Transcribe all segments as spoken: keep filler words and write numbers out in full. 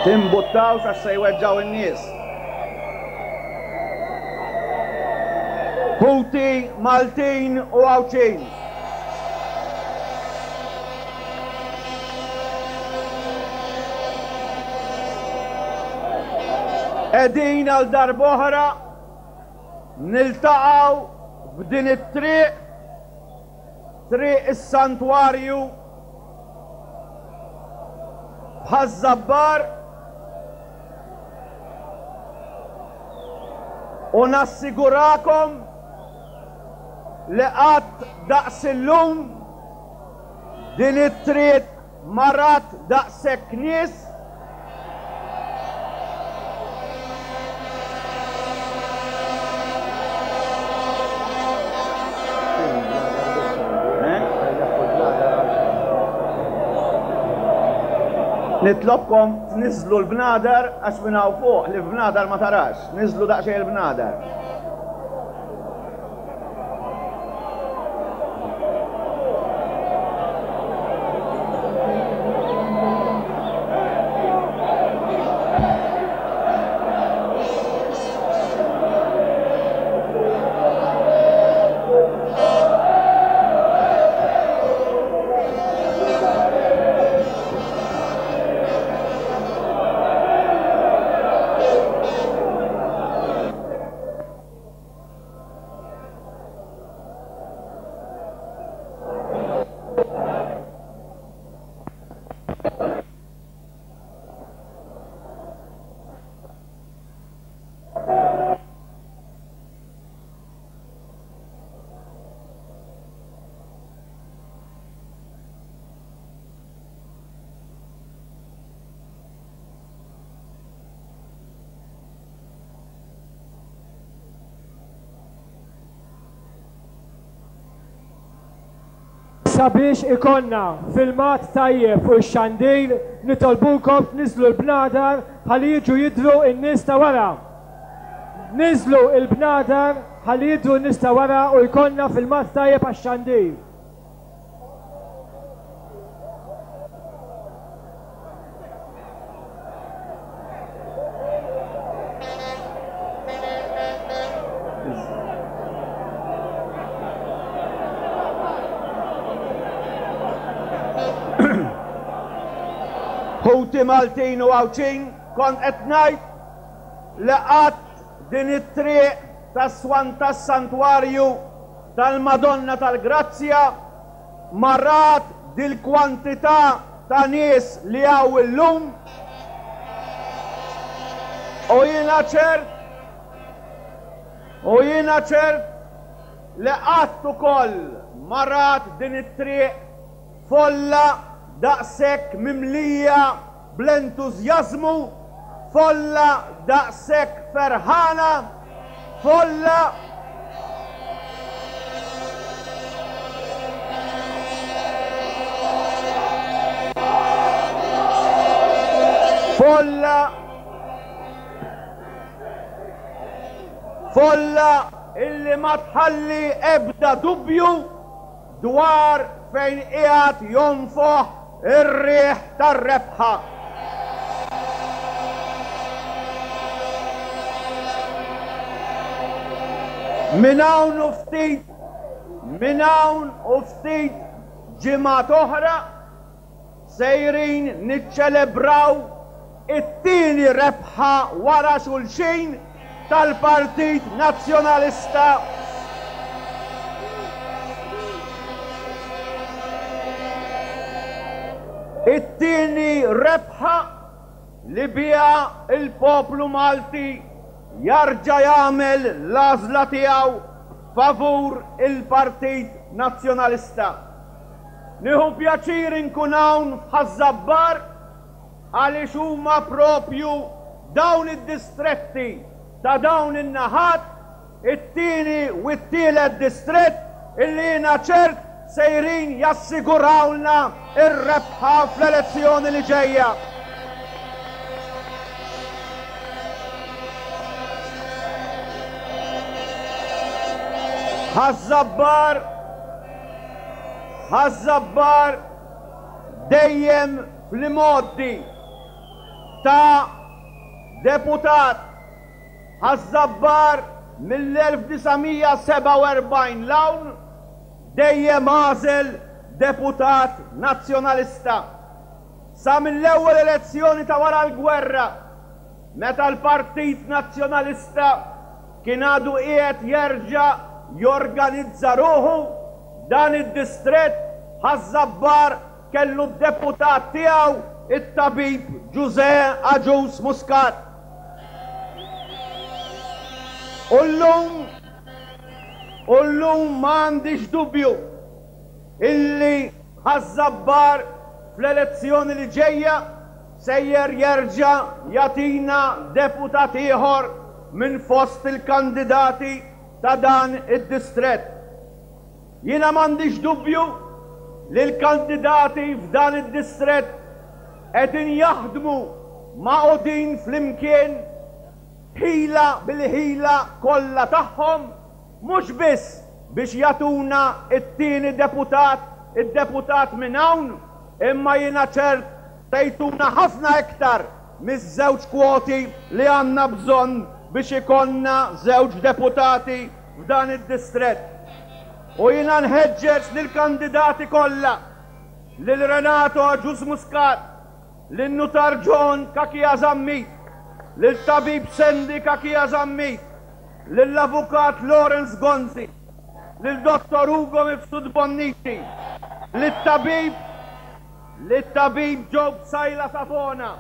Timbuttawx għax se jweġġgħu in-nies. Ħuti Maltin u Għawdxin. Qegħdin għal darb'oħra niltaqgħu f'din it-triq, triq is-Santwarju b'Ħaż-Żabbar, u nassigurakom li qatt daqs illum din it-triq ma rat daqshekk nies. Nitlobkom tniżlu l-bnadar għax minn hawn fuq li f'bnadar ma tarax. Niżlu daqsxejn il-bnadar. Sabiex ikonna filmat tajjeb fuq ix-xandir, nitolbukom tniżlu l-bnadar ħalli jiġu jidhru n-nies ta' wara. Niżlu l-bnadar ħalli jidhru n-nies ta' wara u jkollna filmat tajjeb għax-xandir. Ħuti Maltin u Għawdxin, kont qed ngħid li qatt din it-triq tas-Swan tas-Santwarju tal-Madonna tal-Grazzja ma rat dil-kwantità ta' nies li hawn illum, u jiena ċert U jiena ċert li qatt ukoll ma rat din it-triq folla daqshekk mimlija bl-entużjażmu, folla daqshekk ferħana, folla folla folla illi ma tħalli ebda dubju dwar fejn qiegħed jonfoħ ir-riħ tar-rebħa. Minn hawn u ftit, minn hawn u ftit ġimgħat oħra sejrin niċċelebraw it-tieni rebħa wara xulxin tal-Partit Nazzjonalista. It-tieni rebħa li biha il-poplu Malti jarġa' jagħmel l-għażla tiegħu favur il-Partit Nazzjonalista. Nieħu pjaċir inkun hawn f'Ħaż-Żabbar għaliex huma propju dawn id-distretti ta' dawn in-naħat, it-tieni u t-tielet distrett illi jiena ċert sejrin jassigurawlna ir-rebħa fl-elezzjoni li ġejja. Ħaż-Żabbar, Ħaż-Żabbar dejjem fl-imgħoddi ta' deputat. Ħaż-Żabbar mill-elf disa' mija sebgħa u erbgħin l-hawn dejjem għażel deputat nazzjonalista. Sa mill-ewwel elezzjoni ta' wara l-gwerra, meta l-Partit Nazzjonalista kien għadu qiegħed jerġa' jorganizza ruħu, dan id-distrett Ħaż-Żabbar kellu d-deputat tiegħu it-tabib Ġużè Agius Muscat. U llum, u llum ma għandix dubju illi Ħaż-Żabbar fl-elezzjoni li ġejja sejjer jerġa' jagħtina deputat ieħor minn fost il-kandidati ta' dan id-distrett. Jiena m'għandix dubju li l-kandidati f'dan id-distrett qegħdin jaħdmu magħqudin flimkien ħila bil-ħila kollha tagħhom, mhux biss biex jagħtuna t-tieni deputat, id-deputat minn hawn, imma jiena ċert se jtuna ħafna iktar miż-żewġ kwoti li għandna bżonn biex ikollna żewġ deputati f'dan id-distrett. U jiena nħeġġeġ lill-kandidati kollha, lil Renato Agius Muscat, lil Nutar John Cachia Zammit, lil Tabib Sandy Cachia Zammit, lill-Avukat Lawrence Gonzi, lil Dottor Ugo Mifsud Bonnici, lit-Tabib lit-Tabib Joe Psaila Savona,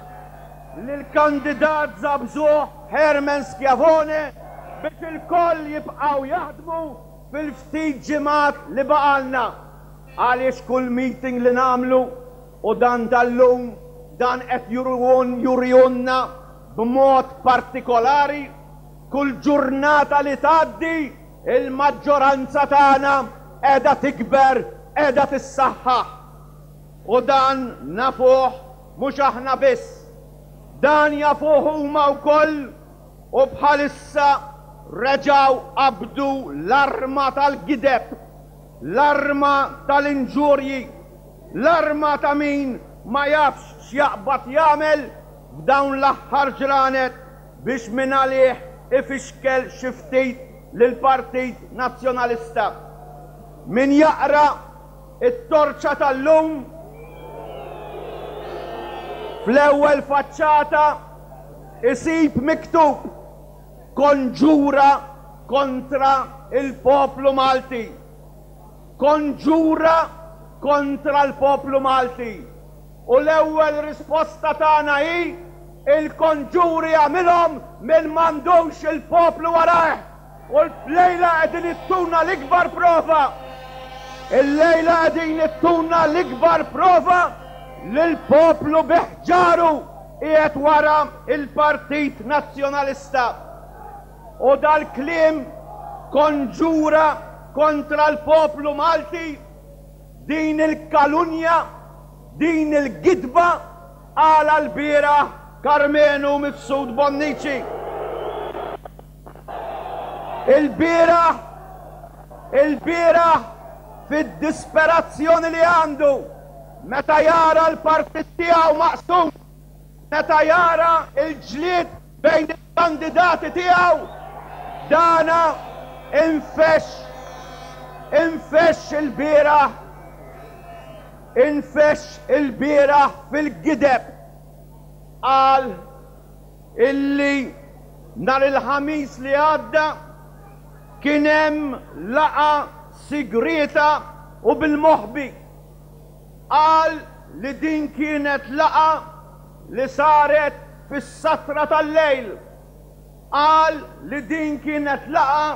lill-kandidat Zabżuh Herman Schiavone biex il-koll jibqgħu jaħdmu fil-ftit ġimgħat li baqalna. Għaliex kull meeting li nagħmlu u dan tal-lum dan qed jurjunna b'mod partikolari, kull ġurnata li tgħaddi il-maġġoranza tagħna qiegħda tikber, qiegħda tissaħħaħ. U dan nafuh mhux aħna biss, dan jafuh huma wkoll, u bħalissa reġgħu qabdu l-arma tal-gideb, l-arma tal-inġurji, l-arma ta' min ma jafx x'jaqbad jagħmel f'dawn l-aħħar ġranet biex minn għalih ifixkel xi ftit lill-Partit Nazzjonalista. Min jaqra it-torċa tal-lum fl-ewwel faċċata isib miktub konġura kontra il-poplu Malti. Konġura kontra l-poplu Malti. U l-ewwel risposta tagħna hi il-konġuri għamilhom min m'għandux il-poplu warajh U l-lejla qegħdin ittuna l-ikbar prova. Il-lejla qegħdin ittuna l-ikbar prova li l-poplu biħġaru qiegħed wara il-Partit Nazzjonalista. U dal-kliem konġura kontra l-poplu Malti, din il-kalunja, din il-gidba għala l-bieraħ Karmenu Mifsud Bonnici. Il-bieraħ, il-bieraħ fid-disperazzjoni li għandu, meta jara l-partit tiegħu maqsum, meta jara l-ġlied bejn il-kandidati tiegħu, dana infex, infex il-bieraħ, infex il-bieraħ fil-gideb. Qal illi nhar il-Ħamis li għadda kien hemm laqgħa sigrieta u bil-moħbi. Qal li din kienet laqgħa li saret fis-satra tal-lejl. Qal li din kienet laqgħa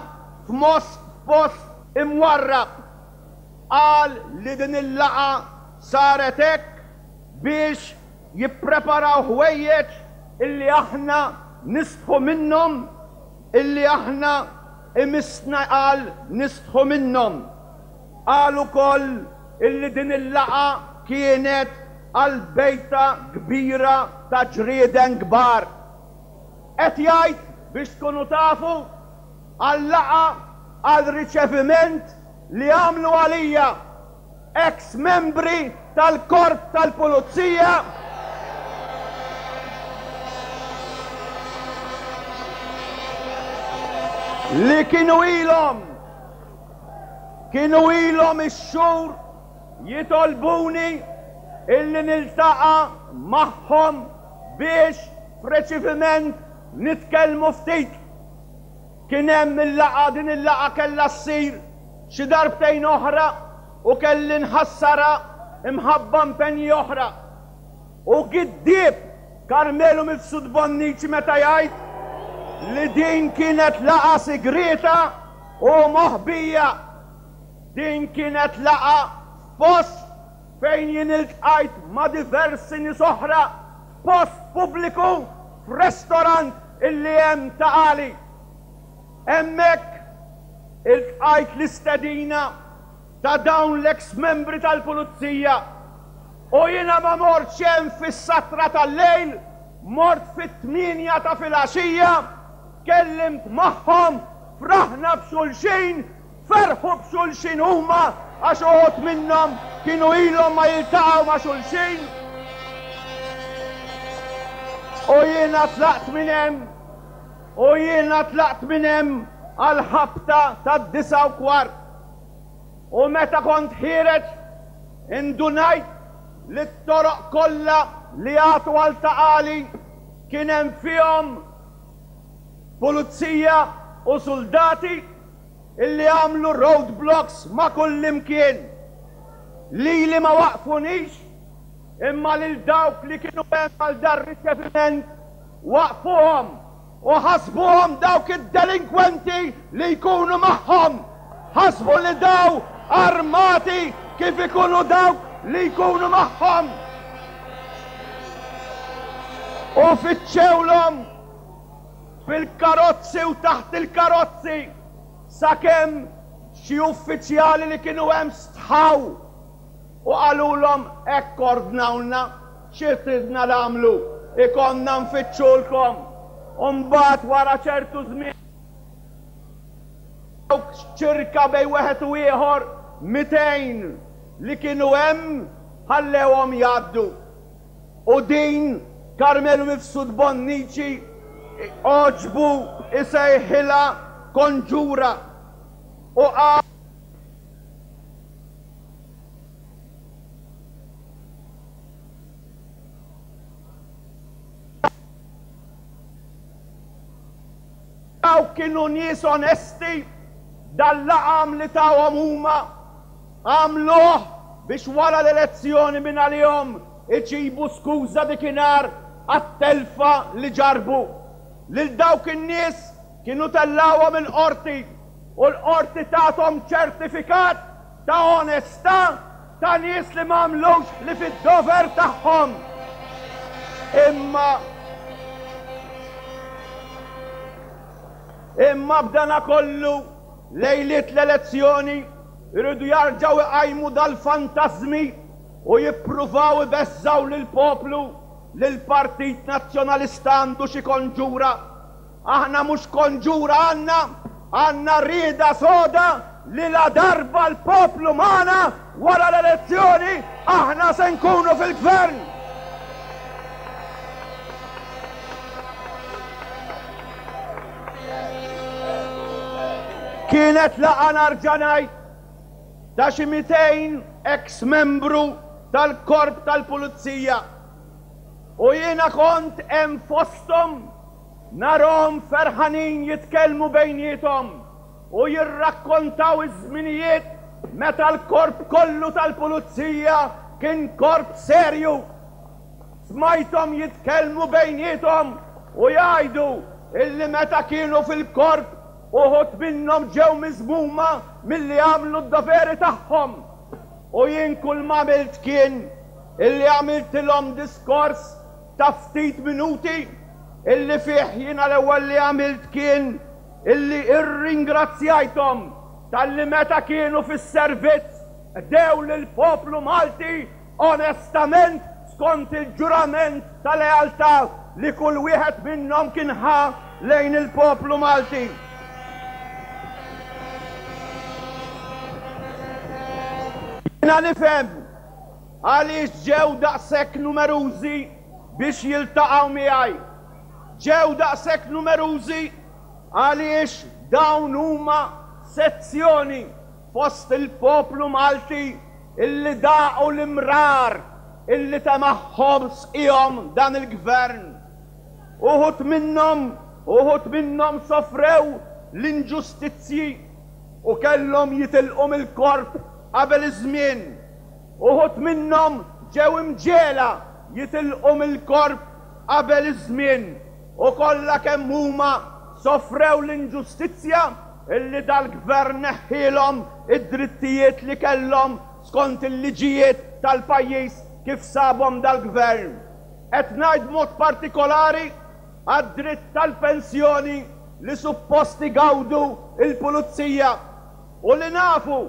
f'most post imwarrab. Qal li din il-laqgħa saret hekk biex jippreparaw ħwejjeġ illi aħna nistħu minnhom, illi aħna imissna qal nistħu minnhom. Qal ukoll illi din il-laqgħa kienet għal bejta kbira ta' ġrieden kbar. Qed jgħid biex tkunu tafu għal laqgħa għal riċeviment li għamlu għalija ex-membri tal-korp tal-pulizija li kienu ilhom kienu ilhom ix-xhur jitolbuni illi niltaqa' magħhom biex f'riċeviment nitkellmu ftit. Kien hemm il-laqgħa, din il-laqgħa kellha ssir xi darbtejn oħra u kelli nħassara imħabba impenji oħra. U giddieb Karmenu Mifsud Bonnici meta jgħid li din kienet laqgħa sigrieta u moħbija. Din kienet laqgħa f'post fejn jien iltqajt ma' diversi nies oħra, f'post pubbliku, f'restorant illi hemm Ta' Qali. Hemmhekk iltqajt l-istedina ta' dawn l-ex-membri tal-pulizija u jiena ma mortx hemm fis-satra tal-lejl, mort fit-tmienja ta' filgħaxija, tkellimt magħhom, fraħna b'xulxin, ferħu b'xulxin huma għax uħud minnhom kienu ilhom ma jiltaqgħu ma' xulxin. U jiena tlaqt minn hemm, u jiena tlaqt minn hemm għal ħabta tad-disa u kwart. U meta kont ħiereġ indunajt li t-toroq kollha li jagħtu għal Ta' Qali kien hemm fihom pulizija u soldati illi għamlu roadblocks ma' kull imkien. Lili ma waqfunix, imma lil dawk li kienu hemm għal dar riċeviment waqfuhom u ħasbuhom dawk id-delinkwenti li jkunu magħhom. Ħasbu li daw armati kif ikunu dawk li jkunu magħhom. U fittxewlhom fil-karozzi u taħt il-karozzi sakemm xi uffiċjali li kienu hemm stħaw u qalulhom hekk ordnawlna, xi tridna nagħmlu, ikonna nfittxulkom. U mbagħad wara ċertu żmien dawk ċirka bejn wieħed u ieħor mitejn li kienu hemm ħallewhom jgħaddu. U din Karmenu Mifsud Bonnici għoġbu isejħilha konġura u qal dawk kienu nies onesti, dal-laqam li tawhom huma għamluh biex wara l-elezzjoni minn għalihom iġibu skuża dikinhar għat-telfa li ġarbu. Lil dawk in-nies Kienu tellawhom il-qorti u l-qorti tagħhom ċertifikat ta' onestà ta' nies li m'għamlux li fid-dover tagħhom. Imma imma b'dana kollu lejliet l-elezzjoni iridu jarġgħu iqajmu dal-fantażmi u jippruvaw ibeżżaw lill-poplu li l-Partit Nazzjonalista għandu xi konġura. Aħna mhux konġura għandna, għandna rieda soda li la darba l-poplu magħna wara l-elezzjoni aħna se nkunu fil-gvern. Kienet laqgħa narġa' ngħid ta' xi mitejn ex-membru tal-korp tal-pulizija u jiena kont hemm fosthom narhom ferħanin jitkellmu bejniethom u jirrakkontaw iż-żminijiet meta l-korp kollu tal-pulizija kien korp serju. Smajthom jitkellmu bejniethom u jgħidu illi meta kienu fil-korp uħud minnhom ġew miżmuma milli għamlu d-doveri tagħhom. U jien kull ma għamilt kien illi għamiltilhom diskors ta' ftit minuti illi fih jiena l-ewwel li għamilt kien illi irringrazzjajthom talli meta kienu fis-servizz qdew lill-poplu Malti onestament skont il-ġurament ta' lealtà li kull wieħed minnhom kien ħa lejn il-poplu Malti. Jiena nifhem għaliex ġew daqshekk numerużi biex jiltaqgħu miegħi. Ġew daqshekk numerużi għaliex dawn huma sezzjoni fost il-poplu Malti illi daqu l-imrar illi tamaħħom sqihom dan il-gvern. Uħud minnhom, uħud minnhom sofrew l-inġustizzji u kellhom jitilqu mill-korp qabel iż-żmien. Uħud minnhom ġew imġiegħla jitilqu mill-korp qabel iż-żmien u kollha kemm huma sofrew l-inġustizzja illi dal-gvern neħħielhom id-drittijiet li kellhom skont il-liġijiet tal-pajjiż kif sabhom dal-gvern. Qed ngħid mod partikolari għad-dritt tal-pensjoni li suppost igawdu il-pulizija u li nafu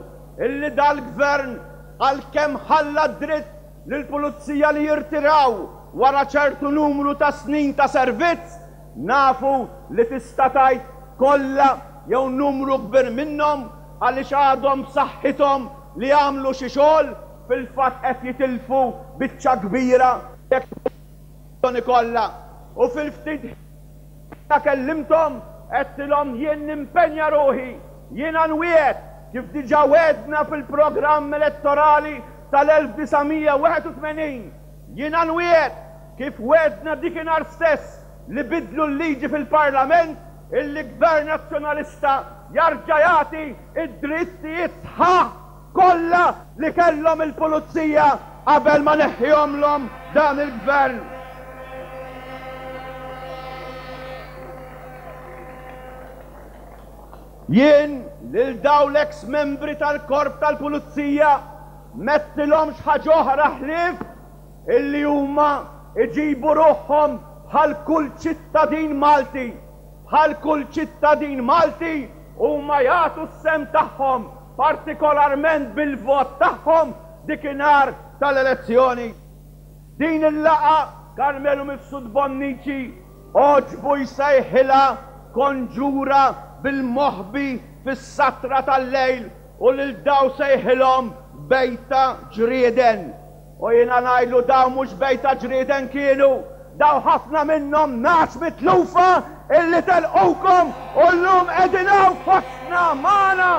illi dal-gvern għalkemm ħalla d-dritt lill-pulizija li jirtiraw wara ċertu numru ta' snin ta' servizz, nafu li tista' tgħid kollha jew numru kbir minnhom għaliex għadhom b'saħħithom li jagħmlu xi xogħol fil-fatt qed jitilfu biċċa kbira jekk kollha. U fil-ftit ta' kellimthom għedtilhom jien nimpenja ruħi, jiena nwiegħed kif diġà wedna fil-programm elettorali tal-elf disa' mija wieħed u tmenin, jiena nwiegħed kif wedna dikinhar stess li bidlu l-liġi fil-Parlament illi Gvern Nazzjonalista jarġa' jagħti id-drittijiet sħaħ kollha li kellhom il-pulizija qabel ma neħħihomlhom dan il-gvern. Jien lil dawn l-ex membri tal-korp tal-pulizija mettilhomx ħaġa oħra ħlief illi huma iġibu ruħhom bħal kull ċittadin Malti, bħal kull ċittadin Malti huma jagħtu s-sem tagħhom, partikolarment bil-vot tagħhom dikinhar tal-elezzjoni. Din il-laqgħa Karmenu Mifsud Bonnici għoġbu jsejħilha konġura bil-moħbi fis-satra tal-lejl u lil daw sejħilhom bejta ġrieden. U jiena ngħidlu daw mhux bejta ġrieden kienu, daw ħafna minnhom nagħaġ mitlufa illi telqukom u llum qegħdin hawn fostna magħna.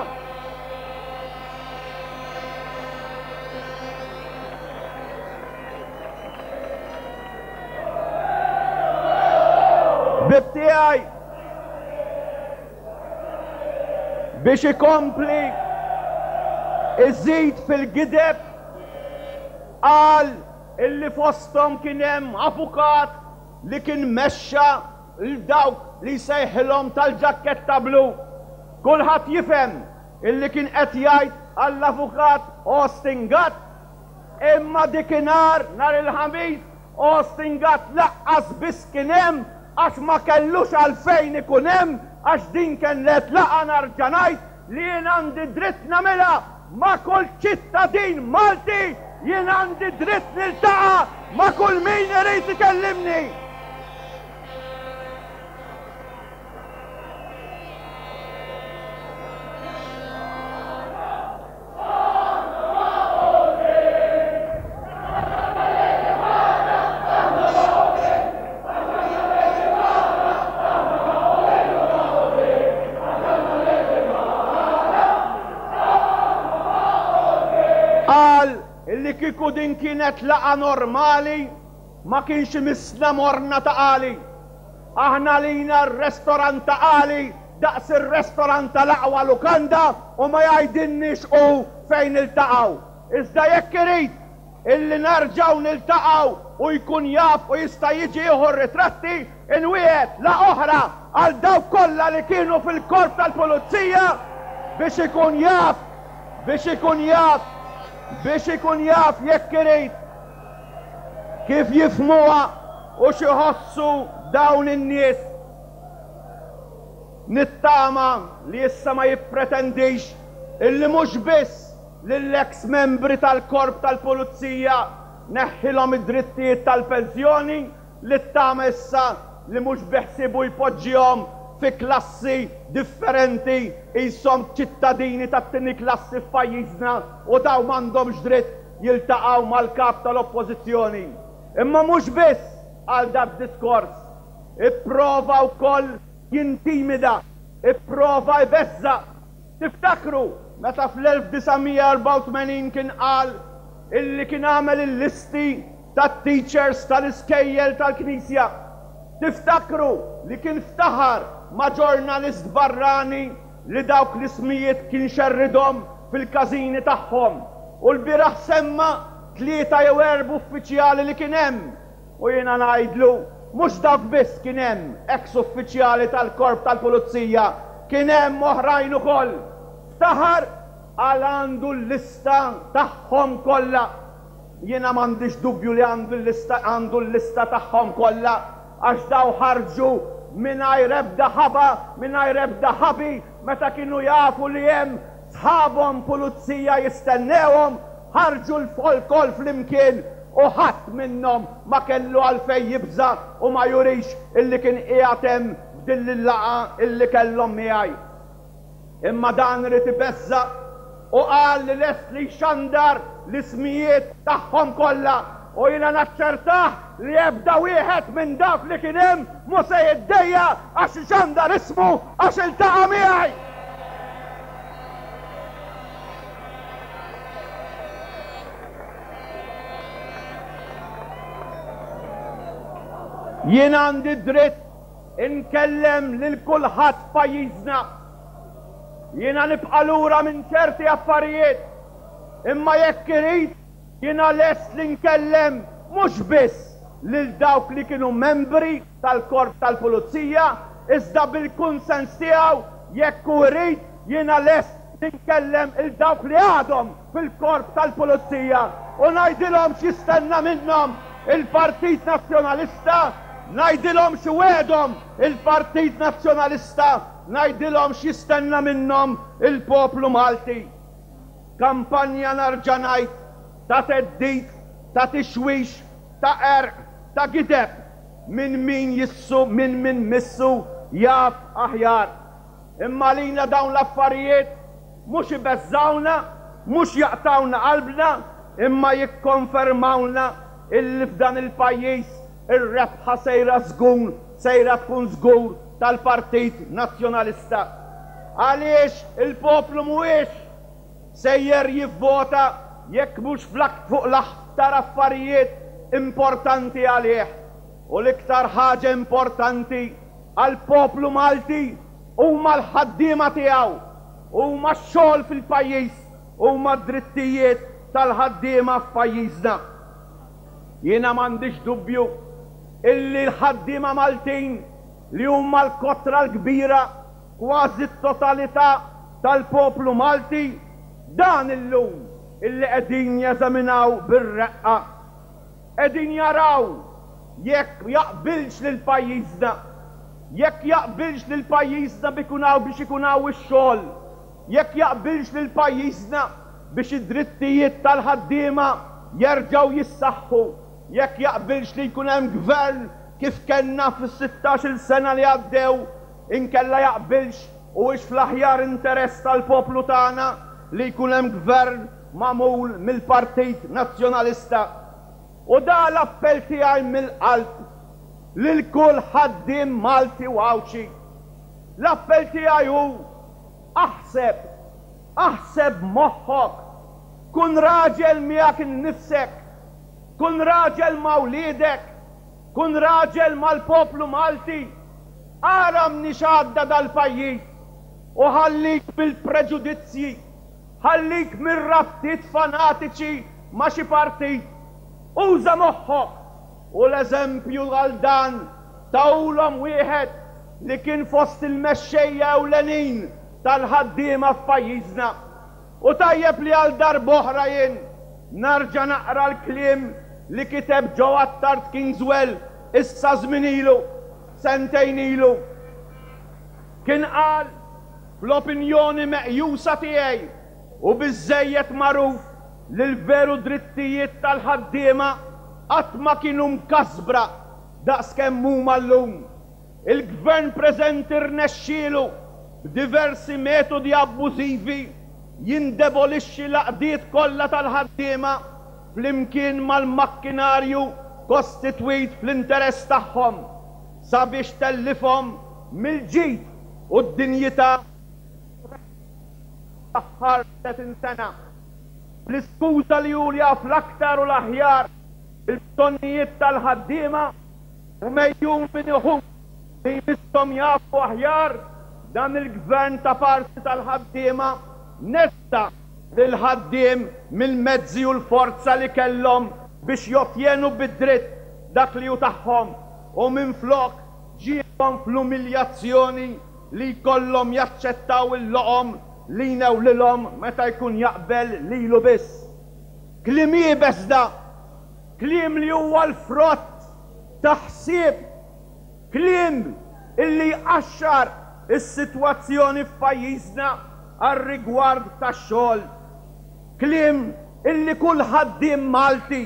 Bib tiegħi biex ikompli iżid fil-gideb qal illi fosthom kien hemm avukat li kien mexxa lil dawk li jsejħilhom tal-ġakketta blu. Kulħadd jifhem illi kien qed jgħid għall-avukat Austin Gatt, imma dikinhar nhar il-Ħamis Austin Gatt laqqas biss kien hemm għax ma kellux għalfejn ikun hemm, għax din kienet laqgħa nerġa' ngħid li jien għandi dritt nagħmilha ma' kull ċittadin Malti, jien għandi dritt niltaqa' ma' kull min irid ikellimni. Qal illi kieku din kienet laqgħa normali ma kienx imissna morna Ta' Qali. Aħna lina r-restorant Ta' Qali daqs ir-restorant tal-aqwa lukanda u ma jgħidilniex hu fejn niltaqgħu. Iżda jekk irid illi nerġgħu niltaqgħu u jkun jaf u jista' jiġi jieħu r-ritratti, inwiegħed laqgħa oħra għal dawk kollha li kienu fil-korp tal-pulizija biex ikun jaf, biex ikun jaf, biex ikun jaf jekk irid kif jifhmuha u x'iħossu dawn in-nies. Nittama li issa ma jippretendix illi mhux biss lill-ex membri tal-korp tal-pulizija neħħilhom id-drittijiet tal-pensjoni, li ttama issa li mhux biħsiebu jpoġġihom fi klassi differenti qishom ċittadini tat-tieni klassi f'pajjiżna u dawn m'għandhomx dritt jiltaqgħu mal-kap tal-oppożizzjoni. Imma mhux biss għal dak diskors, ipprova wkoll jintimida, ipprova jbeżża'. Tiftakru meta fl-elf disa' mija erbgħa u tmenin kien qal illi kien għamel il-listi tat-teachers tal-iskejjel tal-Knisja. Tiftakru li kien ftaħar ma' ġurnalist barrani li dawk l-ismijiet kien xerridhom fil-każini tagħhom. U l-bieraħ semma tlieta jew erba' uffiċjali li kien hemm. U jiena ngħidlu, mhux dawk biss kien hemm ex-uffiċjali tal-korp tal-pulizija, kien hemm oħrajn ukoll. Ftaħar għal għandu l-lista tagħhom kollha. Jiena m'għandix dubju li għandu l-lista, għandu l-lista tagħhom kollha, għax daw ħarġu mingħajr ebda ħaba, mingħajr ebda ħabi, meta kienu jafu li hemm sħabhom pulizija jistennewhom, ħarġu l-folkol flimkien u ħadd minnhom ma kellu għalfejn jibża' u ma jurix illi kien qiegħed hemm f'din il-laqgħa illi kellhom miegħi. Imma dan irid ibeżża' u qal li lest li jxandar l-ismijiet tagħhom kollha, u jiena naċċertah li ebda wieħed minn dawk li kien hemm mhu se jiddejja għax ixandar ismu għax iltaqa' miegħi. Jien għandi dritt inkellem lil kulħadd f'pajjiżna. Jiena nibqa' lura minn ċerti affarijiet, imma jekk irid jiena lest li nkellem mhux biss lil dawk li kienu membri tal-korp tal-pulizija, iżda bil-kunsens tiegħu jekk hu irid jiena lest li nkellem il dawk li għadhom fil-korp tal-pulizija u ngħidilhom x'jistenna minnhom il-Partit Nazzjonalista, ngħidilhom x'iwegħedhom il-Partit Nazzjonalista, ngħidilhom x'jistenna minnhom il-poplu Malti. Kampanja nerġa' ngħid ta' theddid, ta' tixwix, ta' qerq, ta' gideb minn min jissu, minn min missu jaf aħjar. Imma lina dawn l-affarijiet mhux ibeżżawna, mhux jaqtawna qalbna, imma jikkonfermawna illi f'dan il-pajjiż ir-rebħa sejra żgur, sejra tkun żgur tal-Partit Nazzjonalista. Għaliex il-poplu mhuwiex sejjer jivvota jekk mhux fuq l-aktar affarijiet importanti għalih. U l-iktar ħaġa importanti għall-poplu Malti huma l-ħaddiema tiegħu, huma x-xogħol fil-pajjiż, huma d-drittijiet tal-ħaddiema f'pajjiżna. Jiena m'għandix dubju illi l-ħaddiema Maltin li huma l-kotra l-kbira, kważi t-totalità tal-poplu Malti, dan illum illi qegħdin jeżaminaw bir-reqqa. Qegħdin jaraw jekk jaqbilx lil pajjiżna, jekk jaqbilx lil pajjiżna biex ikun hawn ix-xogħol, jekk jaqbilx lil pajjiżna biex id-drittijiet tal-ħaddiema jerġgħu jissaħħu, jekk jaqbilx li jkun hemm gvern kif kellna fis-sittax-il sena li għaddew, inkella jaqbilx u hux fl-aħjar interess tal-poplu tagħna li jkun hemm gvern magħmul mill-Partit Nazzjonalista. U da l-appell tiegħi mill-qalb lil kull ħaddiem Malti u Għawdxi. L-appell tiegħi hu aħseb, aħseb moħħok, kun raġel miegħek innifsek, kun raġel ma' wliedek, kun raġel mal-poplu Malti, ara mniex għadda dal-pajjiż u ħallik mill-preġudizzji, ħallik mir-rabtiet fanatiċi ma' xi partit. Uża moħħok u l-eżempju għal dan tawlhom wieħed li kien fost il-mexxejja ewlenin tal-ħaddiema f'pajjiżna. U tajjeb li għal darb'oħra jien narġa' naqra l-kliem li kiteb Joe Attard Kingswell issa żmien ilu, sentejn ilu. Kien qal fl-opinjoni meqjusa tiegħi u biżżejjed magħruf li l-veru drittijiet tal-ħaddiema qatt ma kienu mkasbra daqskemm huma llum. Il-gvern preżenti rnexxielu b'diversi metodi abbużivi jindebolixxi l-għaqdiet kollha tal-ħaddiema flimkien mal-makkinarju kostitwit fl-interess tagħhom sabiex tellifhom mill-ġid u d-dinjità l-aħħar tletin sena. L-iskuża li hu jaf l-aktar u l-aħjar il-bżonnijiet tal-ħaddiema u mejjun minn uħud li jmisshom jafu aħjar, dan il-gvern ta' parti tal-ħaddiema nessa lil-ħaddiem mill-mezzi u l-forza li kellhom biex jottjenu bid-dritt dak li hu tagħhom u minflok ġiebhom fl-umiljazzjoni li jkollhom jaċċettaw il-loqom li jnewlilhom meta jkun jaqbel lilu biss. Kliem iebes da, kliem li huwa l-frott ta' ħsieb, kliem illi jqaxxar is-sitwazzjoni f'pajjiżna għar-rigward tax-xogħol. Kliem illi kull ħaddiem Malti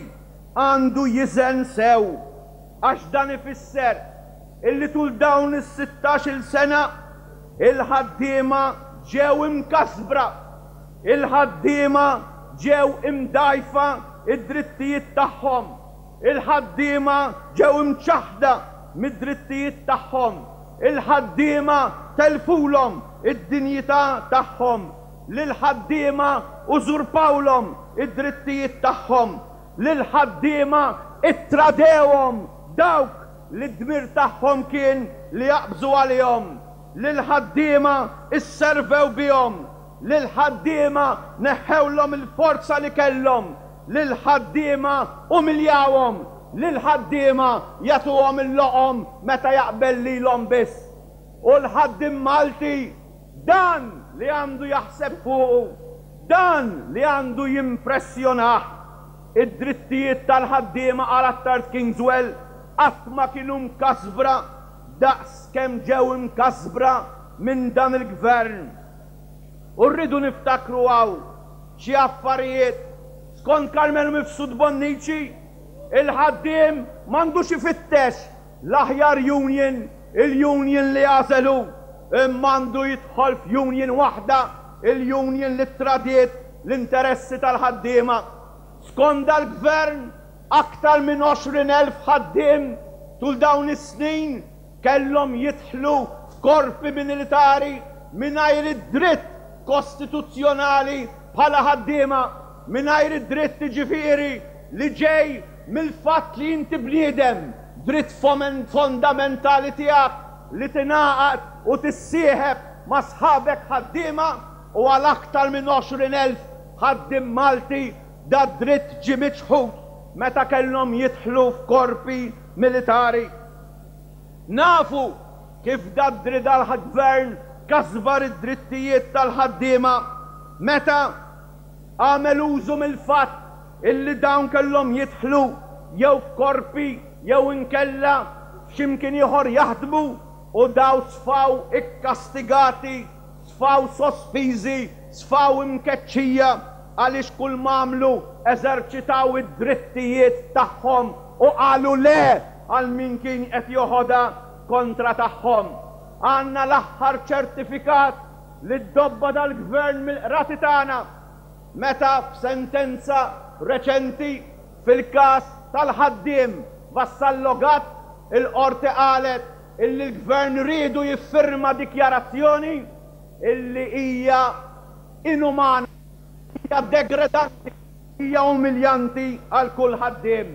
għandu jiżen sew, għax dan ifisser illi tul dawn is-sittax-il sena il-ħaddiema ġew imkasbra, il-ħaddiema ġew imdajfa id-drittijiet tagħhom, il-ħaddiema ġew imċaħda mid-drittijiet tagħhom, il-ħaddiema telfulhom id-dinjità tagħhom, lil-ħaddiema użurpawlhom id-drittijiet tagħhom, lil-ħaddiema ittradewhom dawk li d-dmir tagħhom kien li jaqbżu għalihom, lil-ħaddiema isservew bihom, lil-ħaddiema neħħewlhom il-forza li kellhom, lil-ħaddiema umiljawhom, lil-ħaddiema jagħtuhom il-loqom meta jaqbel lilhom biss. U l-ħaddiem Malti dan li għandu jaħseb fuqu, dan li għandu jimpressjonah. Id-drittijiet tal-ħaddiema għal Attard Kingswell qatt ma kienu mkasbra daqs kemm ġew imkasbra minn dan il-gvern. U rridu niftakru hawn xi affarijiet. Skont Karmenu Mifsud Bonnici, il-ħaddiem m'għandux ifittex l-aħjar union, il-union li għażelu, imma għandu jidħol f'union waħda, il-union li tradiet l-interessi tal-ħaddiema. Skont dal-gvern, aktar minn għoxrin elf ħaddiem tul dawn is-snin kellhom jidħlu f'korpi militari mingħajr id-dritt kostituzzjonali bħala ħaddiema, mingħajr id-dritt jiġifieri li ġej mill-fatt li inti bniedem, dritt fondamentali tiegħek li tingħaqad u tissieħeb ma' sħabek ħaddiema, u għal aktar minn għoxrin elf ħaddiem Malti da dritt ġie miċħud meta kellhom jidħlu f'korpi militari. Nafu kif dadri dal-gvern kasbar id-drittijiet tal-ħaddiema meta għamel użu mill-fatt illi dawn kellhom jidħlu jew f'korpi jew inkella x'imkien ieħor jaħdmu u daw sfaw ikkastigati, sfaw sospiżi, sfaw imkeċċija għaliex kull m'għamlu eżerċitaw id-drittijiet tagħhom u qalu le għal min kien qed joħodha kontra tagħhom. Għandna l-aħħar ċertifikat li ddobba dal-gvern mill-qrati tagħna meta f'sentenza reċenti fil-każ tal-ħaddiem Vassallo Gatt il-qorti qalet illi l-gvern riedu jiffirma dikjarazzjoni illi hija inumana, hija degradanti, hija umiljanti għal kull ħaddiem.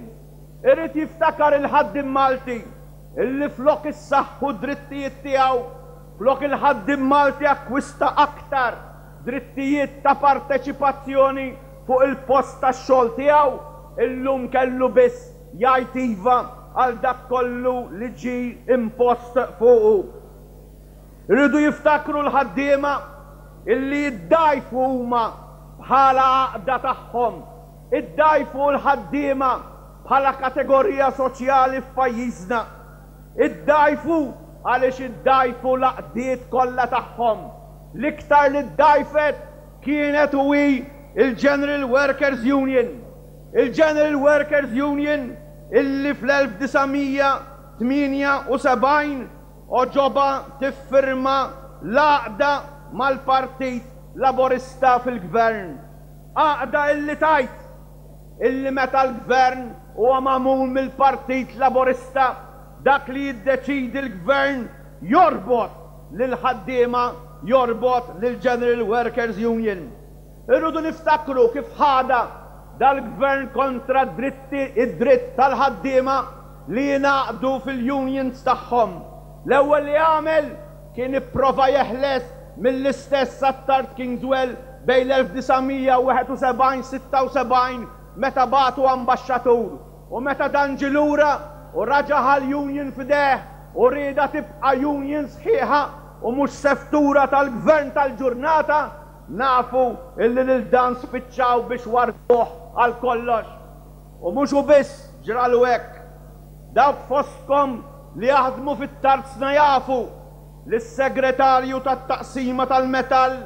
Irid jiftakar il-ħaddiem Malti illi flok issaħħu drittijiet tiegħu, flok il-ħaddiem Malti akkwista aktar drittijiet ta' parteċipazzjoni fuq il-post tax-xogħol tiegħu, illum kellu biss jgħid iva għal dak kollu li ġie impost fuqu. Irridu jiftakru l-ħaddiema illi jiddajfu huma bħala għaqda tagħhom, iddajfu l-ħaddiema bħala kategorija soċjali f'pajjiżna, iddajfu għaliex iddajfu l-għaqdiet kollha tagħhom. L-iktar li ddajfet kienet u hi il-General Workers Union. Il-General Workers Union illi fl-elf disa' mija tmienja u sebgħin oġoba tiffirma l-għaqda mal-Partit Laburista fil-Gvern. Għaqda illi tajt illi meta l-Gvern huwa magħmul mill-Partit Laburista, dak li jiddeċidi l-Gvern jorbot lil-ħaddiema, jorbot lil-General Workers Union. Irridu niftakru kif ħada dal-Gvern kontra dritti id-dritt tal-ħaddiema li jingħaqdu fil-unions tagħhom. L-ewwel li għamel kien ipprova jeħles mill-istess Attard Kingswell bejn l-elf disa' mija wieħed u sebgħin sitta u sebgħin meta bagħtu ambaxxatur, u meta dan ġie lura u raġa' ħal-union f'ideh u rieda tibqa' union sħiħa u mhux seftura tal-gvern tal-ġurnata, nafu illi lil dan spiċċaw biex warbuh għal kollox. U mhux hu biss ġralu hekk. Dawk fostkom li jaħdmu fit-tarzna jafu li s-segretarju tat-taqsima tal-metall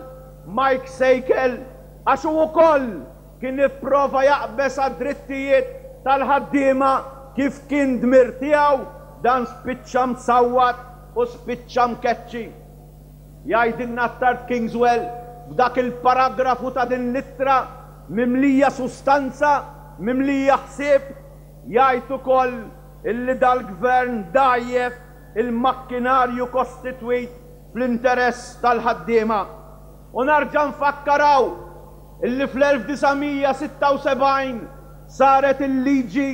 Mike Sejkel, għax hu wkoll kien ipprova jaqbeż għad-drittijiet tal-ħaddiema kif kien dmir tiegħu, dan spiċċa msawwat u spiċċa mkeċċi. Jgħidilna Attard Kingswell f'dak il-paragrafu ta' din l-ittra mimlija sustanza, mimlija ħsieb, jgħid ukoll illi dal-gvern dgħajjef il-makkinarju kostitwit fl-interess tal-ħaddiema. U narġa' nfakkaraw illi fl-elf disa' mija sitta u sebgħin saret il-liġi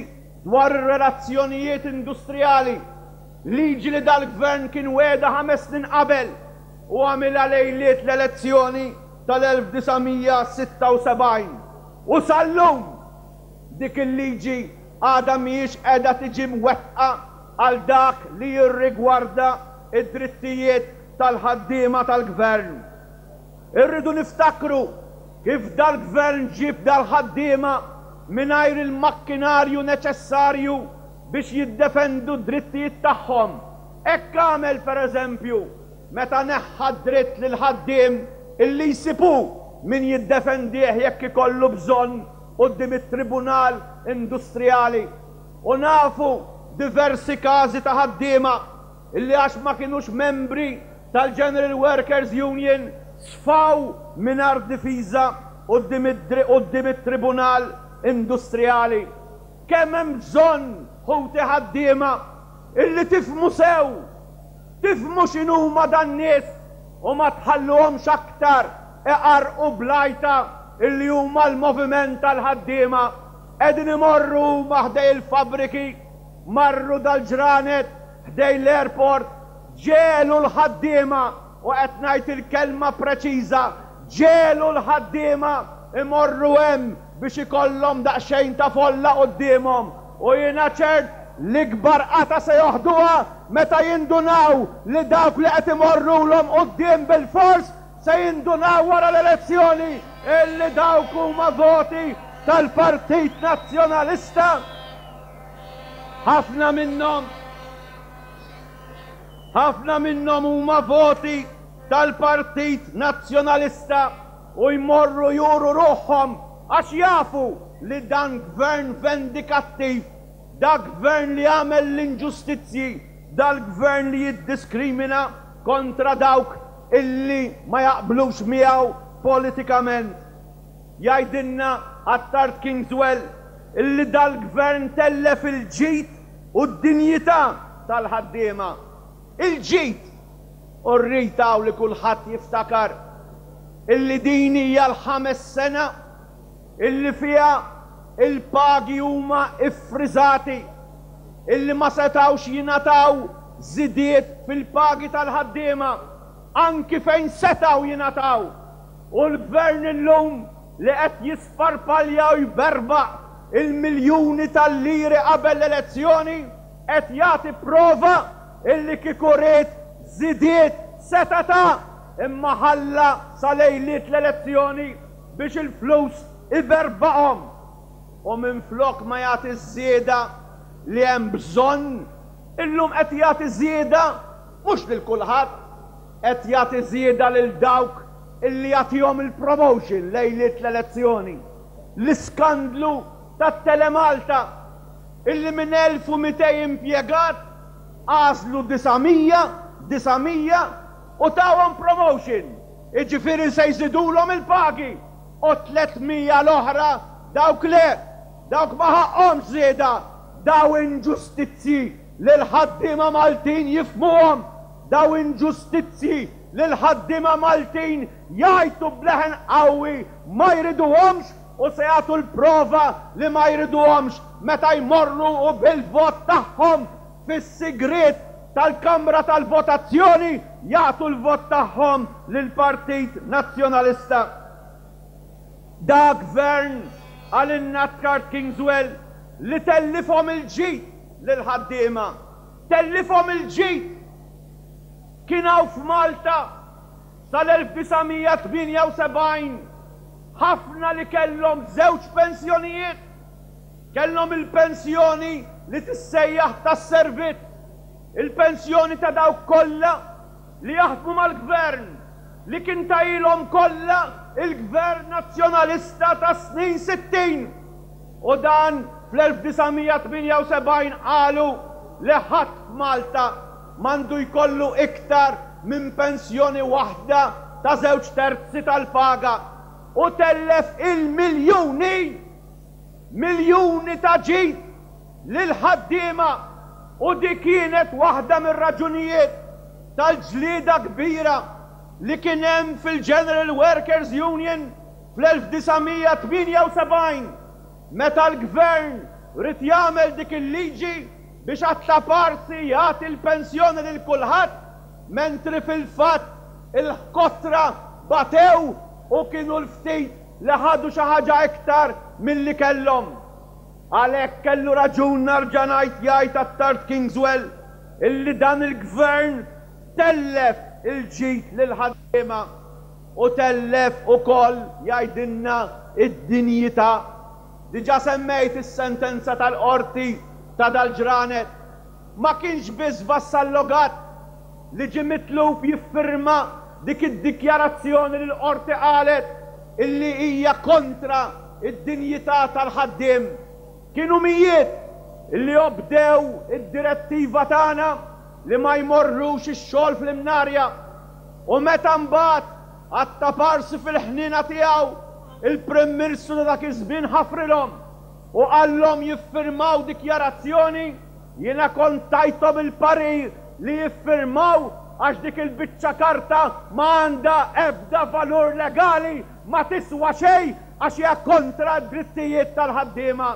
dwar ir-relazzjonijiet industrijali, liġi li dal-gvern kien weda ħames snin qabel u għamilha lejliet l-elezzjoni tal-elf disa' mija sitta u sebgħin. U sal-lum dik il-liġi għadha mhijiex qiegħda tiġi mwettqa għal dak li jirrigwarda id-drittijiet tal-ħaddiema tal-gvern. Irridu niftakru kif dal-gvern ġib dal-ħaddiema mingħajr il-makkinarju neċessarju biex jiddefendu d-drittijiet tagħhom. Hekk għamel pereżempju meta neħħa dritt lil ħaddiem illi jsibu min jiddefendih jekk ikollu bżonn quddiem it-Tribunal Industrijali. U nafu diversi każi ta' ħaddiema illi għax ma kienux membri tal-General Workers Union sfaw mingħajr difiża quddiem id-dri-, quddiem it-Tribunal Industrijali. Kemm hemm bżonn, ħuti ħaddiema, illi tifhmu sew, tifhmu x'inhuma dan-nies u ma tħalluhomx aktar iqarqu blajta illi huma l-moviment tal-ħaddiema. Qegħdin imorru huma ħdej il-fabriki, marru dal-ġranet ħdej l-airport, ġelu l-ħaddiema, u qed ngħid il-kelma preċiża, ġelu l-ħaddiema imorru hemm biex ikollhom daqsxejn ta' folla quddiemhom. U jiena ċert L-ikbar qata se joħduha meta jindunaw li dawk li qed imorrulhom quddiem bil-fors se jindunaw wara l-elezzjoni illi dawk huma voti tal-Partit Nazzjonalista. Ħafna minnhom ħafna minnhom huma voti tal-Partit Nazzjonalista u jmorru juru ruħhom għax jafu li dan gvern vendikattiv, da gvern li għamel l-inġustizzji, dal-gvern li jiddiskrimina kontra dawk illi ma jaqblux miegħu politikament. Jgħidilna Attard Kingswell illi dal-gvern tellef il-ġid u d-dinjità tal-ħaddiema. Il-ġid! U rrid hawn li kulħadd jiftakar illi din hija l-ħames sena illi fiha il-pagi huma iffriżati, illi ma setgħux jingħataw żidiet fil-pagi tal-ħaddiema, anki fejn setgħu jingħataw. U l-gvern illum li qed jisparpalja u jberbaq il-miljuni tal-liri qabel l-elezzjoni qed jagħti prova illi kieku ried żidiet seta' ta, imma ħalla sa lejliet l-elezzjoni biex il-flus iberbaqhom. U minflok ma jagħti żieda li hemm bżonn, illum qed jagħti żieda mhux lil kulħadd, qed jagħti żieda lil dawk illi jagħtihom il-promotion lejliet l-elezzjoni. L-iskandlu tat-Telemalta illi minn elf u mitejn impjegat għażlu disa' mija, disa' mija u tawhom promotion. Jiġifieri se jżidulhom il-pagi u tliet mija l-oħra dawk le, dawk ma ħaqhomx żieda. Daw inġustizzji li l-ħaddiema Maltin jifhmuhom, daw inġustizzji li l-ħaddiema Maltin jgħajtu b'leħen qawwi ma jriduhomx u se jagħtu l-prova li ma jriduhomx meta jmorru u bil-vot tagħhom fis-sigriet tal-Kamra tal-Votazzjoni jagħtu l-vot tagħhom lill-Partit Nazzjonalista. Da gvern għal Attard Kingswell li tellifhom il-ġid lil-ħaddiema. Tellifhom il-ġid. Kien hawn f'Malta sal-elf disa' mija tmienja u sebgħin ħafna li kellhom żewġ pensjonijiet. Kellhom il-pensjoni li tissejjaħ tas-servizz, il-pensjoni ta' dawk kollha li jaħdmu mal-gvern, li kien tajilhom kollha il-Gvern Nazzjonalista tas-snin sittin. U dan fl-elf disa' mija tmienja u sebgħin qalu li ħadd f'Malta m'għandu jkollu iktar minn pensjoni waħda ta' żewġ terzi tal-paga u tellef il-miljuni, miljuni ta' ġid lil-ħaddiema. U di kienet waħda mir-raġunijiet tal-ġlieda kbira li kien hemm fil-General Workers Union fl-elf disa' mija tmienja u sebgħin meta l-gvern ried jagħmel dik il-liġi biex għat-taparsi jagħti l-pensjoni lil kulħadd, mentri fil-fatt il-kotra batew u kienu l-ftit li ħadu xi ħaġa iktar milli kellhom. Għalhekk kellu raġun narġa' ngħid jgħid Attard Kingswell illi dan il-gvern tellef il-ġid lil-ħaddiema u tellef ukoll jgħidilna id-dinjità. Diġà semmejt is-sentenza tal-qorti ta' dal-ġranet. Ma kienx biss Vassallo Gatt li ġie mitlub jiffirma dik id-dikjarazzjoni li l-qorti qalet illi hija kontra id-dinjità tal-ħaddiem. Kienu mijiet illi obdew id-direttiva tagħna li ma jmorrux ix-xogħol fl-Imnarja. U meta mbagħad għat-taparsi fil-ħnina tiegħu il-Prim Ministru ta' dak iż-żmien ħafrilhom u qallhom jiffirmaw dikjarazzjoni, jiena kont tajthom il-parir li jiffirmaw għax dik il-biċċa karta ma għandha ebda valur legali, ma tiswa xejn għax hija kontra d-drittijiet tal-ħaddiema.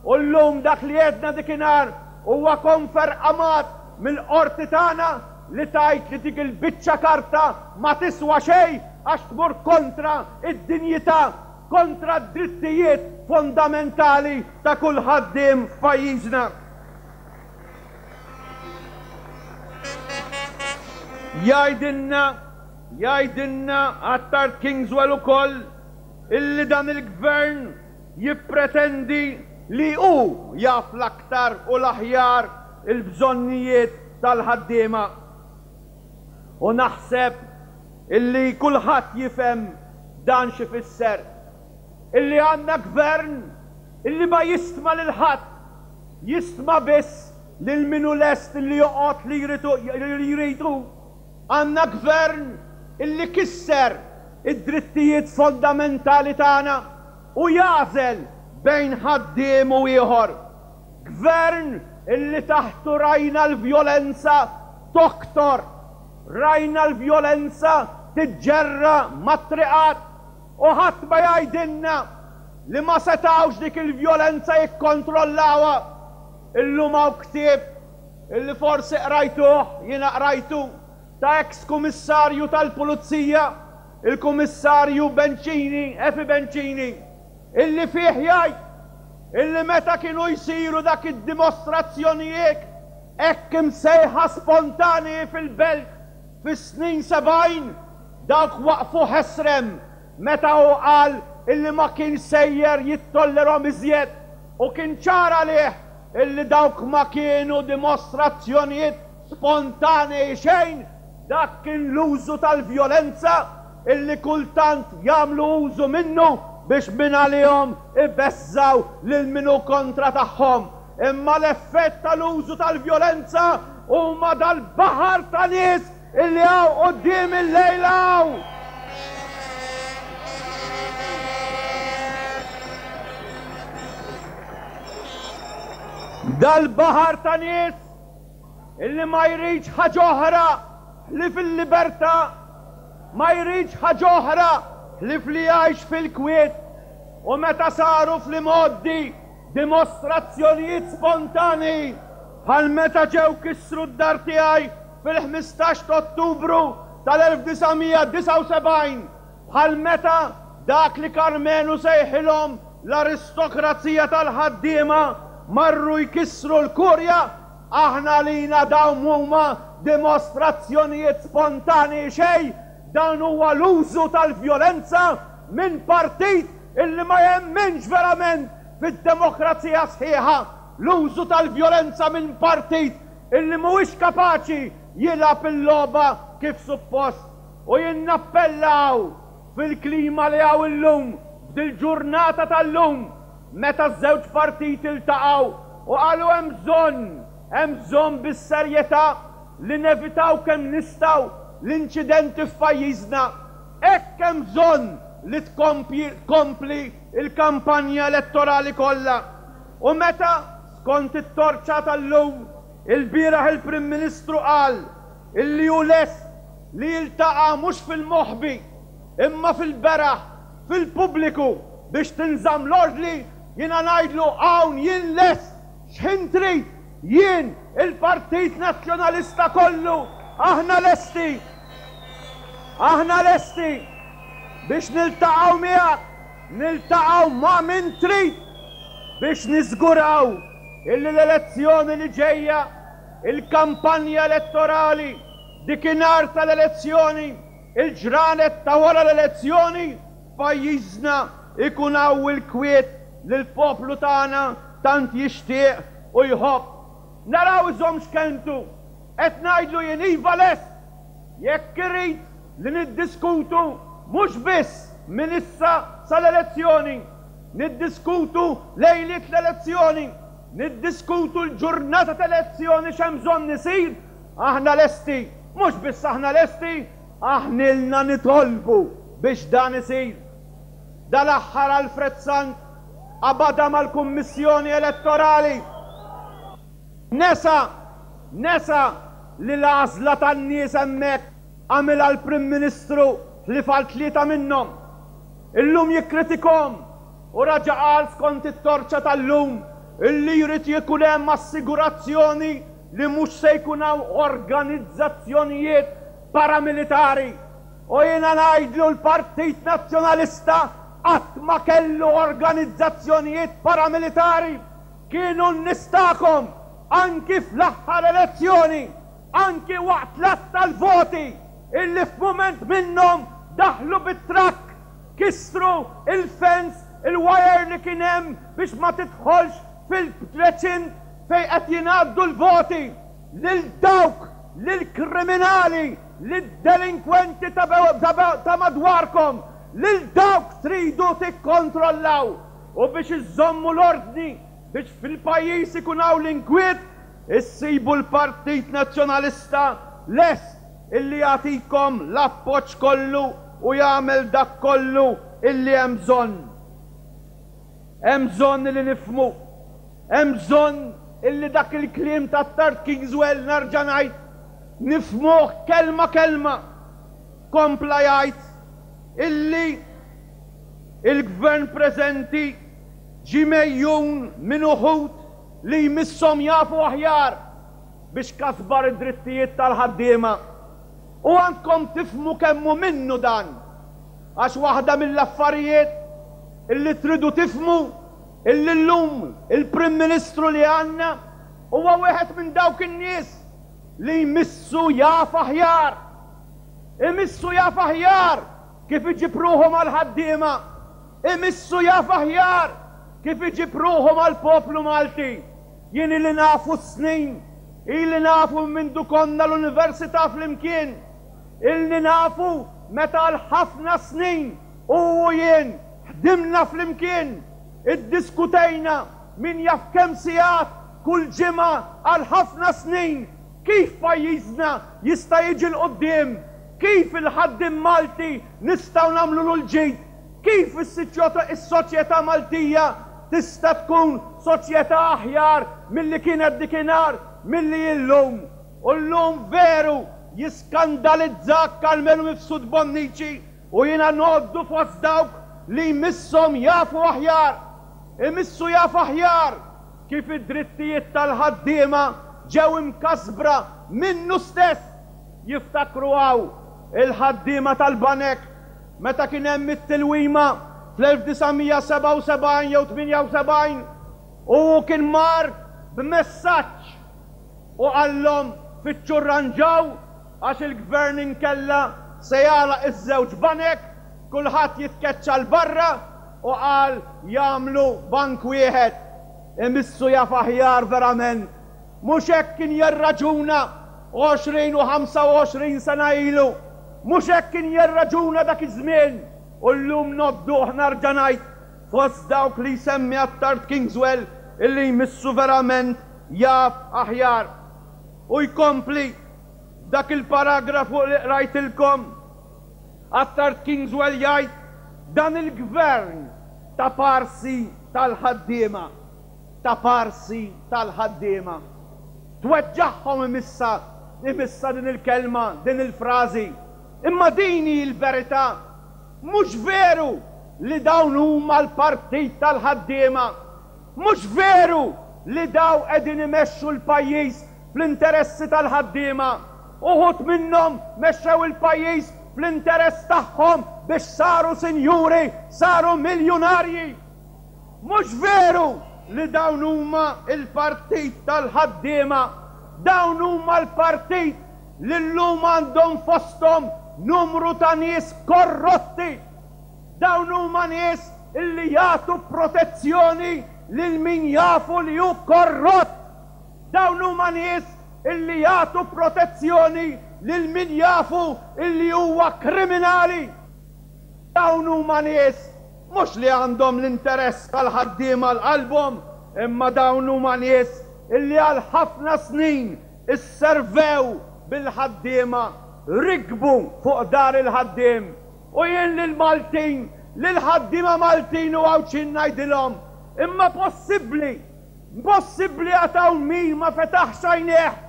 U llum dak li għedna dikinhar huwa konfermat mill-qorti tagħna li tajt li dik il-biċċa karta ma tiswa xejn għax tmur kontra id-dinjità, kontra d-drittijiet fondamentali ta' kull ħaddiem f'pajjiżna. Jgħidilna, jgħidilna Attard Kingswell ukoll illi dan il-gvern jippretendi li hu jaf l-aktar u l-aħjar il-bżonnijiet tal-ħaddiema. U naħseb illi kulħadd jifhem dan x'ifisser. Illi għandna gvern illi ma jistma' lil ħadd, jistma' biss lil min hu lest illi joqgħod li jrid hu. Għandna gvern illi kisser id-drittijiet fondamentali tagħna u jagħżel bejn ħaddiem u ieħor. Gvern illi taħtu rajna l-vjolenza toktor, rajna l-vjolenza tiġġerra mat-triqat u ħadd ma jgħidilna li ma setgħux dik il-vjolenza jikkontrollawha. Illum hawn ktieb illi forsi qrajtuh, jiena qrajtu, ta' ex-kummissarju tal-Pulizija, il-Kummissarju Bencini, Efi Bencini, illi fih jgħid illi meta kienu jsiru dak id-dimostrazzjonijiet hekk imsejħa spontani fil-belt fis-snin sebgħin, dawk waqfu ħesrem meta hu qal illi ma kienx sejjer jittollerhom iżjed u kien ċar għalih illi dawk ma kienu dimostrazzjonijiet spontanei xejn, dak kien l-użu tal-vjolenza illi kultant jagħmlu użu minnu biex minn għalihom ibeżżaw lil min hu kontra tagħhom. Imma l-effett tal-użu tal-vjolenza huma dal-baħar ta' nies illi hawn quddiem illejla hawn. Dal-baħar ta' nies illi ma jridx ħaġa oħra li fil-libertà, ma jridx ħaġa oħra li fli jgħix fil-kwiet. U meta saru fl-imgħoddi dimostrazzjonijiet spontani bħal meta ġew kissru d-dar tiegħi fil-ħmistax ta' Ottubru tal-elf disa' mija disgħa u sebgħin, bħal meta dak li Karmenu sejħilhom l-aristokrazija tal-ħaddiema marru jkissru l-kurja, aħna lina dawn huma dimostrazzjonijiet spontani xejn, dan huwa l-użu tal-vjolenza minn partit illi ma jemminx verament fid-demokrazija sħiħa, l-użu tal-vjolenza minn partit illi mhuwiex kapaċi jilgħab il-logħba kif suppost. U jien nappellaw fil-klima li hawn illum, f'dil-ġurnata tal-lum, meta ż-żewġ partiti ltaqgħu u qalu hemm bżonn, hemm bżonn bis-serjetà li nevitaw kemm nistgħu l-inċidenti f'pajjiżna. Hekk hemm bżonn li tkompli il-kampanja elettorali kollha. U meta skont it-torċa tal-lum, il-bieraħ il-Prim Ministru qal illi hu lest li jiltaqa' mhux fil-moħbi imma fil-beraħ, fil-pubbliku biex tinżamm l-ordni, jiena ngħidlu hawn jien lest x'ħin trid, jien il-Partit Nazzjonalista kollu aħna lesti. Aħna lesti biex niltaqgħu miegħek, niltaqgħu ma' min trid biex niżguraw illi l-elezzjoni li ġejja, il-kampanja elettorali, dikinhar tal-elezzjoni, il-ġranet ta' wara l-elezzjoni, pajjiżna ikun hawn il-kwiet li l-poplu tagħna tant jixtieq u jħobb. Naraw iżomm x'kelmtu, qed ngħidlu jien iva lest, jekk irid li niddiskutu mhux biss minn issa sal-elezzjoni, niddiskutu lejliet l-elezzjoni, niddiskutu l-ġurnata tal-elezzjoni x'hemm bżonn isir, aħna lesti, mhux biss aħna lesti, aħnilna nitolbu biex dan isir. Dal-aħħar Alfred Sant qabadha mal-Kummissjoni Elettorali. Nesa, nesa li l-għażla tan-nies hemmhekk għamilha l-Prim Ministru li fal tlieta minnhom. Illum jikkritikom u raġa' qal skont it-torċa tal-lum illi jrid jkun hemm assigurazzjoni li mhux se jkun hawn organizzazzjonijiet paramilitari. U jiena ngħidlu l-Partit Nazzjonalista qatt ma kellu organizzazzjonijiet paramilitari. Kienu n-nies tagħkom anki fl-aħħar elezzjoni, anki waqt l-att tal-voti illi f'mument minnhom daħlu bit-trakk, kissru il-fence, il-wire li kien hemm biex ma tidħolx fil-reċint fejn qed jingħaddu l-voti. Lil dawk, lil kriminali, lid-delinkwenti ta' madwarkom, lil dawk tridu tikkontrollaw u biex iżommu l-ordni, biex fil-pajjiż ikun hawn l-inkwiet, issibu l-Partit Nazzjonalista lest illi jagħtikom l-appoġġ kollu u jagħmel dak kollu illi hemm bżonn. Hemm bżonn li nifhmu, hemm bżonn illi dak il-kliem ta' Attard Kingswell, nerġa' ngħid, nifhmuh kelma kelma. Kompla jgħid illi il-gvern preżenti ġie megħjun minn uħud li jmisshom jafu aħjar biex kasbar id-drittijiet tal-ħaddiema. U għandkom tifhmu kemm hu minnu dan. Għax waħda mill-affarijiet illi tridu tifhmu illi llum il-Prim Ministru li għandna huwa wieħed minn dawk in-nies li jmissu jaf aħjar. Imissu jaf aħjar kif iġib ruħu mal-ħaddiema. Imissu jaf aħjar kif iġib ruħu mal-poplu Malti. Jien li nafu snin, ili nafu mindu konna l-università flimkien, ilni nafu meta l-ħafna snin u jien ħdimna flimkien, iddiskutejna min jaf kemm sigħat kull ġimgħa għal ħafna snin kif pajjiżna jista' jiġi 'l quddiem, kif il-ħaddiem Malti nistgħu nagħmlu l-ġid, kif is-soċjetà Maltija tista' tkun soċjetà aħjar milli kienet dikinhar, milli illum. U llum veru jiskandalizzak Karmenu Mifsud Bonnici u jiena ngħoddu fost dawk li jmisshom jafu aħjar. Imissu jaf aħjar kif id-drittijiet tal-ħaddiema ġew imkasbra minnu stess. Jiftakru hawn il-ħaddiema tal-banek meta kien hemm it-tilwima fl-elf disa' mija sebgħa u sebgħin jew tmienja u sebgħin u kien mar b'messaġġ u qallhom fittxu rranġaw għax il-gvern inkella se jagħlaq iż-żewġ banek, kulħadd jitkeċċa 'l barra, u qal jagħmlu bank wieħed. Imissu jaf aħjar verament. Mhux hekk kien jirraġuna għoxrin u ħamsa u għoxrin sena ilu. Mhux hekk kien jirraġuna dak iż-żmien. U llum ngħodduh, nerġa' ngħid, fost dawk li jsemmi Attard Kingswell illi jmissu verament jaf aħjar. U jkompli dak il-paragrafu li qrajtilkom. Attard Kingswell jgħid dan il-gvern ta' parsi tal-ħaddiema, ta' parsi tal-ħaddiema. Tweġġagħhom imissa, imissa din il-kelma, din il-frażi. Imma din hi l-verità. Mhux veru li dawn huma l-partit tal-ħaddiema. Mhux veru li daw qegħdin imexxu l-pajjiż fl-interessi tal-ħaddiema. Uħud minnhom mexxew il-pajjiż fl-interess tagħhom biex saru sinjuri, saru miljunarji. Mhux veru li dawn huma l-partit tal-ħaddiema. Dawn huma l-partit li llum għandhom fosthom numru ta' nies korrotti. Dawn huma nies illi jagħtu protezzjoni lil min jafu li hu korrott. Dawn huma nies illi jagħtu protezzjoni lil min jafu illi huwa kriminali. Dawn huma nies mhux li għandhom l-interess tal-ħaddiema l-qalbhom, imma dawn huma nies illi għal ħafna snin isservew bil-ħaddiema, rikbu fuq dar il-ħaddiem. U jien lill-Maltin, lill-ħaddiema Maltin u Għawdxin ngħidilhom, imma possibbli, possibbli għataw min ma fetaħx għajnejh,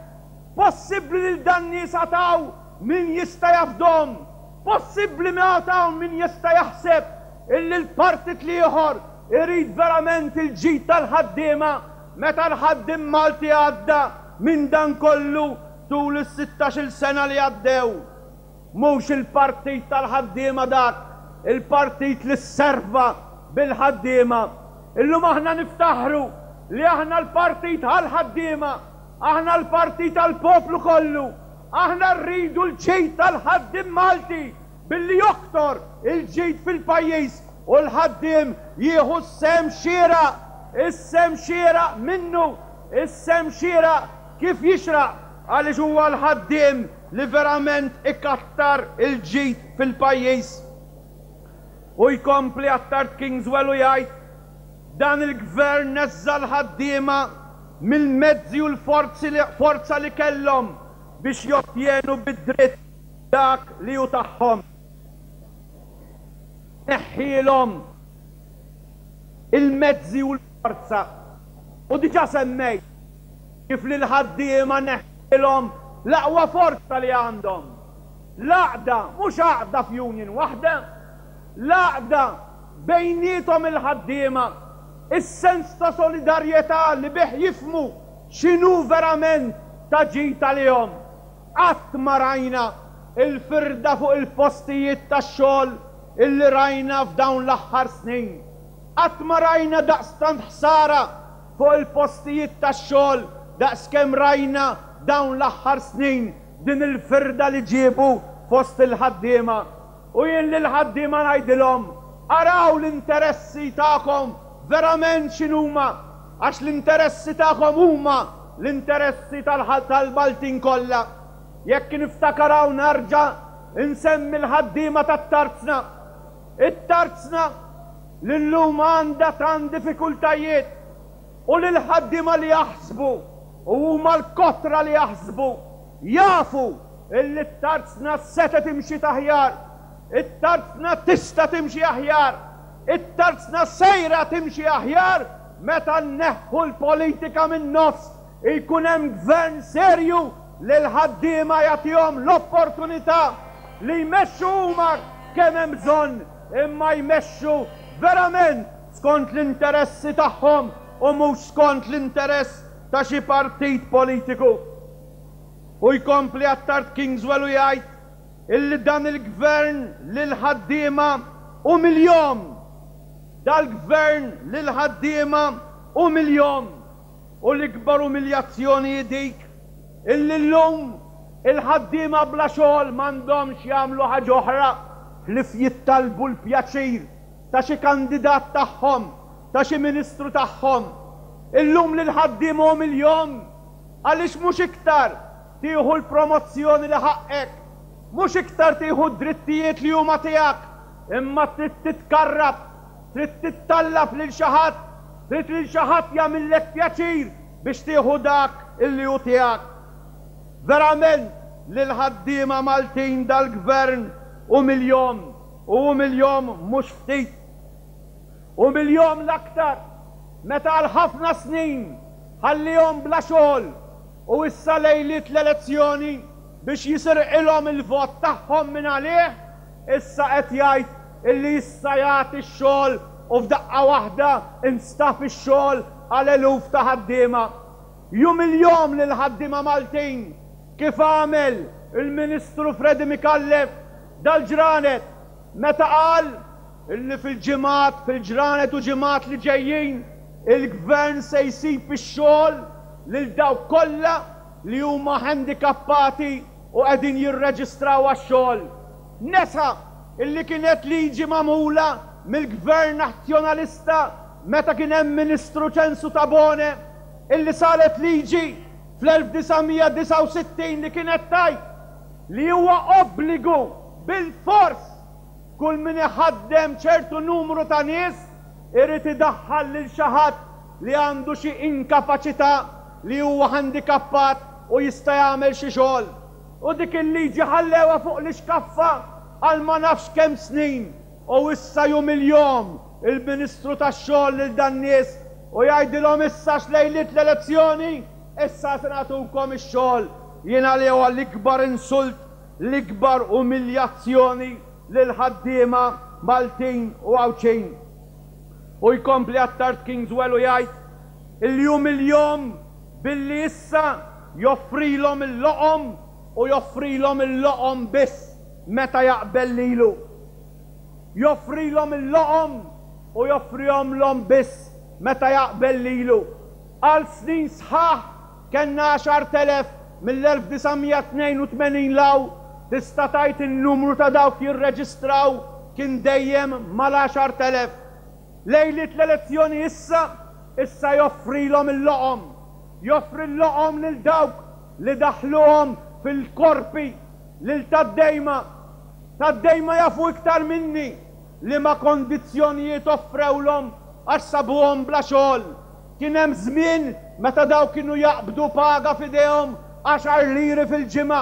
possibbli lil dan nies għataw min jista' jafdhom, possibbli ma għataw min jista' jaħseb illi l-partit l-ieħor irid verament il-ġid tal-ħaddiema meta l-ħaddiem Malti għadda minn dan kollu tul is-sittax-il sena li għaddew. Mhux il-partit tal-ħaddiema dak, il-partit li serva bil-ħaddiema. Illum aħna niftaħru li aħna l-partit għal-ħaddiema, Aħna l-partit tal-poplu kollu. Aħna rridu l-ġid tal-ħaddiem Malti billi joktor il-ġid fil-pajjiż u l-ħaddiem jieħu s-sehem xieraq, is-sehem xieraq minnu, is-sehem xieraq kif jixraq, għaliex huwa l-ħaddiem li verament ikattar il-ġid fil-pajjiż. U jkompli Attard Kingswell u jgħid dan il-gvern neżża' l-ħaddiema mill-mezzi u l-forza li kellhom biex jottjenu bid-dritt dak li hu tagħhom. Neħħielhom il-mezzi u l-forza. U diġà semmejt kif lill-ħaddiema neħħielhom l-aqwa forza li għandhom. L-għaqda, mhux għaqda f'union waħda, l-għaqda bejniethom il-ħaddiema, is-sens ta' solidarjetà li bih jifhmu x'inhu verament ta' ġid għalihom. Qatt ma rajna il-firda fuq il-postijiet tax-xogħol illi rajna f'dawn l-aħħar snin. Qatt ma rajna daqstant ħsara fuq il-postijiet tax-xogħol daqskemm rajna dawn l-aħħar snin din il-firda li ġiebu fost il-ħaddiema. U jien lill-ħaddiema ngħidilhom, araw l-interessi tagħkom verament x'inhuma, għax l-interessi tagħkom huma l-interessi tal-Maltin kollha. Jekk niftakar hawn nerġa' nsemmi l-ħaddiema tat-tarzna. It-tarzna li llum għandha tant diffikultajiet u lill-ħaddiema li jaħsbu, u huma l-kotra li jaħsbu, jafu illi t-tarzna setgħet timxi aħjar, it-tarzna tista' timxi aħjar, it-tarzna sejra timxi aħjar meta nneħħu l-politika min-nofs, ikun hemm gvern serju li l-ħaddiema jagħtihom l-opportunità li jmexxu huma kemm hemm bżonn, imma jmexxu verament skont l-interessi tagħhom u mhux skont l-interess ta' xi partit politiku. U jkompli Attard Kingswell u jgħid illi dan il-gvern lill-ħaddiema umiljahom. Dal-gvern lill-ħaddiema umiljahom. U l-ikbar umiljazzjoni hi dik illi llum il-ħaddiema bla xogħol m'għandhomx jagħmlu ħaġa oħra ħlief jittalbu l-pjaċir ta' xi kandidat tagħhom, ta' xi ministru tagħhom. Illum lill-ħaddiema umiljahom għaliex mhux iktar tieħu l-promozzjoni li ħaqqek, mhux iktar tieħu d-drittijiet li huma tiegħek, imma trid titkarrab, trid tittallab lil xi ħadd, trid lil xi ħadd jagħmillek pjaċir biex tieħu dak illi hu tiegħek. Verament lill-ħaddiema Maltin dal-gvern umiljahom, u umiljahom mhux ftit. Umiljahom l-aktar meta għal ħafna snin ħallihom bla xogħol u issa lejliet l-elezzjoni biex jisirqilhom il-vot tagħhom minn għalih, issa qed jgħid illi issa jagħti x-xogħol u f'daqqa waħda instab ix-xogħol għal eluf ta' ħaddiema. Umiljahom lill-ħaddiema Maltin kif għamel il-Ministru Freddie Micallef dal-ġranet meta qal illi fil-ġimgħat, fil-ġranet u ġimgħat li ġejjin il-gvern se jsib ix-xogħol lil dawk kollha li huma handikappati u qegħdin jirreġistraw għax-xogħol. Nesa illi kienet liġi magħmula mill-gvern nazzjonalista meta kien hemm Ministru Ċensu Tabone illi saret liġi fl-elf disa' mija disgħa u sittin li kienet tgħid li huwa obbligu bil-fors kull min iħaddem ċertu numru ta' nies irid idaħħal lil xi ħadd li għandu xi inkapaċità li huwa handikappat u jista' jagħmel xi xogħol. U dik il-liġi ħallewha fuq l-ixkaffa għal ma nafx kemm snin u issa umiljahom il-Ministru tax-xogħol lil dan nies u jgħidilhom issa x'lejliet l-elezzjoni issa se nagħtukom ix-xogħol. Jiena li huwa l-ikbar insult, l-ikbar umiljazzjoni lil ħaddiema Maltin u Għawdxin. U jkompli Attard Kingswell u jgħid illi umiljahom billi issa joffrilhom il-loqom u joffrilhom il-loqom biss meta jaqbel lilu. Joffrilhom il-loqom u joffrihomlhom biss meta jaqbel lilu. Għal snin sħaħ Kellna għaxart elef mill-elf disa' mija tnejn u tmenin 'l hawn, tista' tgħid in-numru ta' dawk jirreġistraw kien dejjem mal-għaxart elef. Lejliet l-elezzjoni issa, issa joffrilhom il-loqom. Joffri l-loqom lil dawk li daħluhom fil-korpi, lil tad-dejma. Tad-dejma jafu iktar minni liema kondizzjonijiet offrewlhom għax sabuhom bla xogħol. Kien hemm żmien meta dawk kienu jaqbdu paga f'idejhom għaxar liri fil-ġimgħa.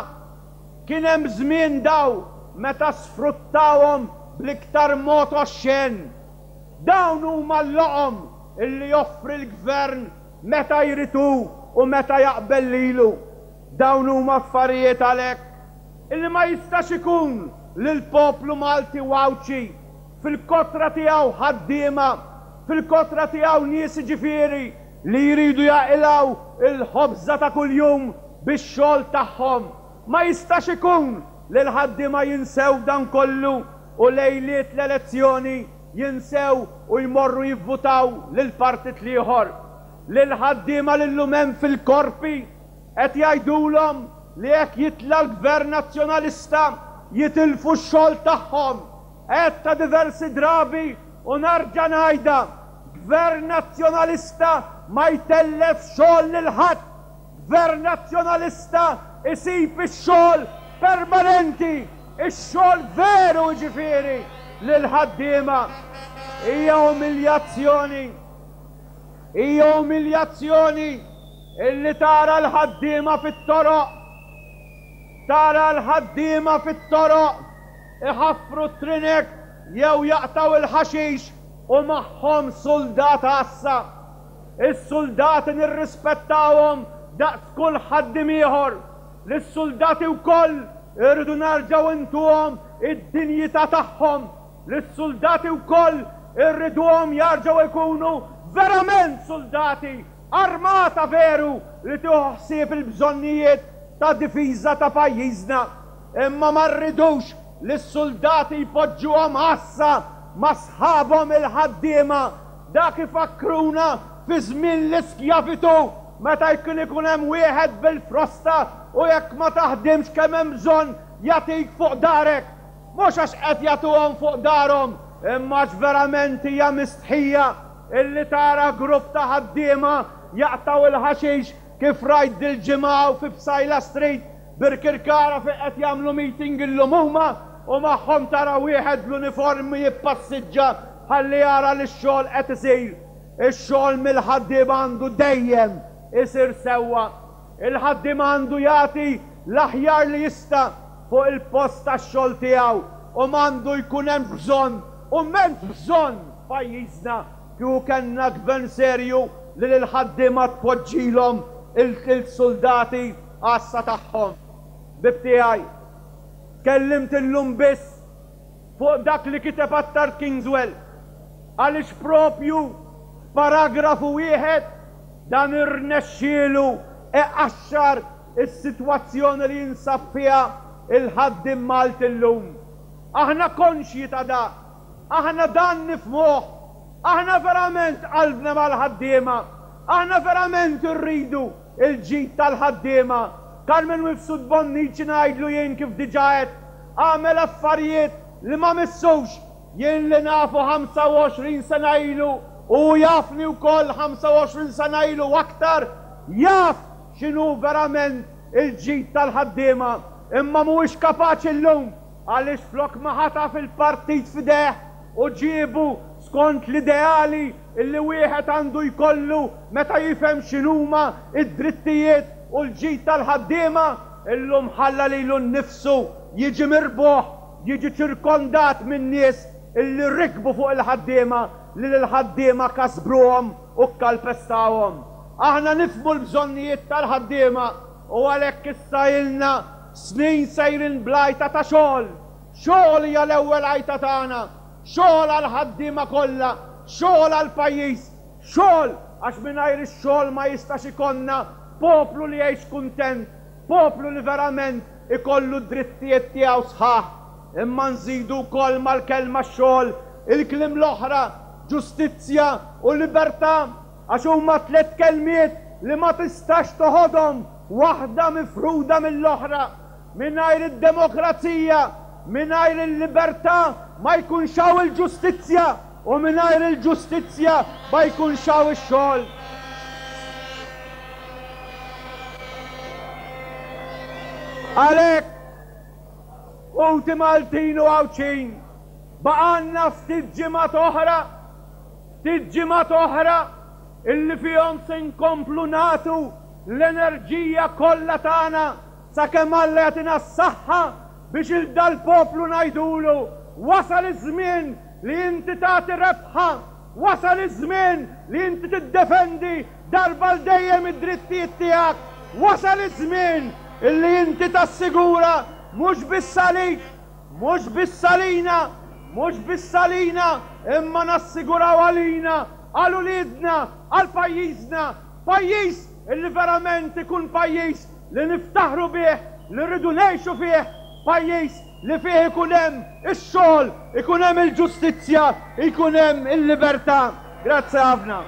Kien hemm żmien daw meta sfruttawhom bl-iktar mod oxxen. Dawn huma l-loqom illi joffri l-gvern meta jrid hu u meta jaqbel lilu. Dawn huma affarijiet għalhekk illi ma jistax ikun li l-poplu Malti u Għawdxi fil-kotra tiegħu ħaddiema, fil-kotra tiegħu nies jiġifieri li jridu jaqilgħu il-ħobża ta' kuljum bix-xogħol tagħhom. Ma jistax ikun li l-ħaddiema jinsew dan kollu u lejliet l-elezzjoni jinsew u jmorru jivvutaw lill-partit l-ieħor. Lill-ħaddiema li llum hemm fil-korpi qed jgħidulhom li jekk jitla' l-Gvern Nazzjonalista jitilfu x-xogħol tagħhom. Għedtha diversi drabi u narġa' ngħidha, Gvern Nazzjonalista ma jtellef xogħol lil ħadd. Gvern Nazzjonalista isib ix-xogħol permanenti, ix-xogħol veru jiġifieri lill-ħaddiema. Hija umiljazzjoni. Hija umiljazzjoni illi tara l-ħaddiema fit-toroq. Tara l-ħaddiema fit-toroq iħaffru t-trinek jew jaqtaw il-ħaxix u magħhom suldat għassa. Is-suldati nirrispettawhom daqs kull ħaddiem ieħor. Lis-suldati wkoll irridu narġgħu intuhom id-dinjità tagħhom. Lis-suldati wkoll irriduhom jarġgħu jkunu verament suldati, armata veru li tieħu ħsieb il-bżonnijiet ta' difiża ta' pajjiżna. Imma ma rridux li s-suldati jpoġġuhom għassa ma' sħabhom il-ħaddiema. Dak ifakkruna fi żmien l-iskjavitu meta jkun ikun hemm wieħed bil-frosta u jekk ma taħdimx kemm hemm bżonn jagħtik fuq darek. Mhux għax qed jagħtuhom fuq darhom, imma għax verament hija mistħija illi tara grupp ta' ħaddiema jaqtaw il-ħaxix kif rajt dil-ġimgħa hawn fi Psaila Street Birkirkara fejn qed jagħmlu meeting illum huma u magħhom tara wieħed bl-uniformi jippassiġġa ħalli jara li x-xogħol qed isir. Ix-xogħol mill-ħaddiema għandu dejjem isir sewwa. Il-ħaddiem għandu jagħti l-aħjar li jista' fuq il-post tax-xogħol tiegħu u m'għandu jkun hemm bżonn u m'hemmx bżonn f'pajjiżna kieku kellna gvern serju li lill-ħaddiema tpoġġilhom il-soldati għassa tagħhom. Bib tiegħi, tkellimt illum biss fuq dak li kiteb Attard Kingswell, għaliex propju f'paragrafu wieħed dan irnexxielu iqaxxar is-sitwazzjoni li jinsab fiha il-ħaddiem Malti llum. Aħna konxji ta' da, aħna dan nifhmuh, aħna verament qalbna mal-ħaddiema, aħna verament irridu il-ġid tal-ħaddiema. Carmen Mifsud Bonnici ngħidlu jien kif diġà għedt, għamel affarijiet li ma missux, jien li nafu ħamsa u għoxrin sena ilu u jafni wkoll ħamsa u għoxrin sena ilu aktar, jaf x'inhu verament il-ġid tal-ħaddiema, imma mhuwiex kapaċi llum għaliex flok ma ħataf il-partit f'ideh u ġiebu skont l-ideali illi wieħed għandu jkollu meta jifhem x'inhuma id-drittijiet u l-ġid tal-ħaddiema, illum ħalla lilu nnifsu jiġi mirbuħ, jiġi ċirkondat minn nies illi rikbu fuq il-ħaddiema, li l-ħaddiema kasbruhom u kkalpestawhom. Aħna nifhmu l-bżonnijiet tal-ħaddiema u għalhekk issa ilna snin sejrin blajta ta' xogħol. Xogħol hija l-ewwel għajta tagħna, xogħol għall-ħaddiema kollha, xogħol għall-pajjiż, xogħol għax mingħajr ix-xogħol ma jistax ikollna poplu li jgħix kuntent, poplu li verament ikollu d-drittijiet tiegħu sħaħ. Imma nżidu wkoll mal-kelma xogħol il-kliem l-oħra, ġustizzja u libertà, għax huma tliet kelmiet li ma tistax toħodhom waħda mifruda mill-oħra. Mingħajr id-demokrazija, mingħajr il-libertà ma jkunx hawn il-ġustizzja u mingħajr il-ġustizzja ma jkunx hawn ix-xogħol. Għalhekk, ħuti Maltin u Għawdxin, baqgħalna ftit ġimgħat oħra, ftit ġimgħat oħra illi fihom se nkomplu nagħtu l-enerġija kollha tagħna sakemm Alla jagħtina s-saħħa biex il dal-poplu ngħidulu wasal iż-żmien li inti tagħti rebħa, wasal iż-żmien li inti tiddefendi darba l dejjem id-drittijiet tiegħek, wasal iż-żmien illi inti tassigura mhux biss għalik, mhux biss għalina, mhux biss għalina, imma nassiguraw għalina, għal uliedna, għal pajjiżna, pajjiż illi verament ikun pajjiż li niftaħru bih, li rridu ngħixu fih, pajjiż li fih ikun hemm ix-xogħol, ikun hemm il-ġustizzja, ikun hemm il-libertà. Grazzi ħafna.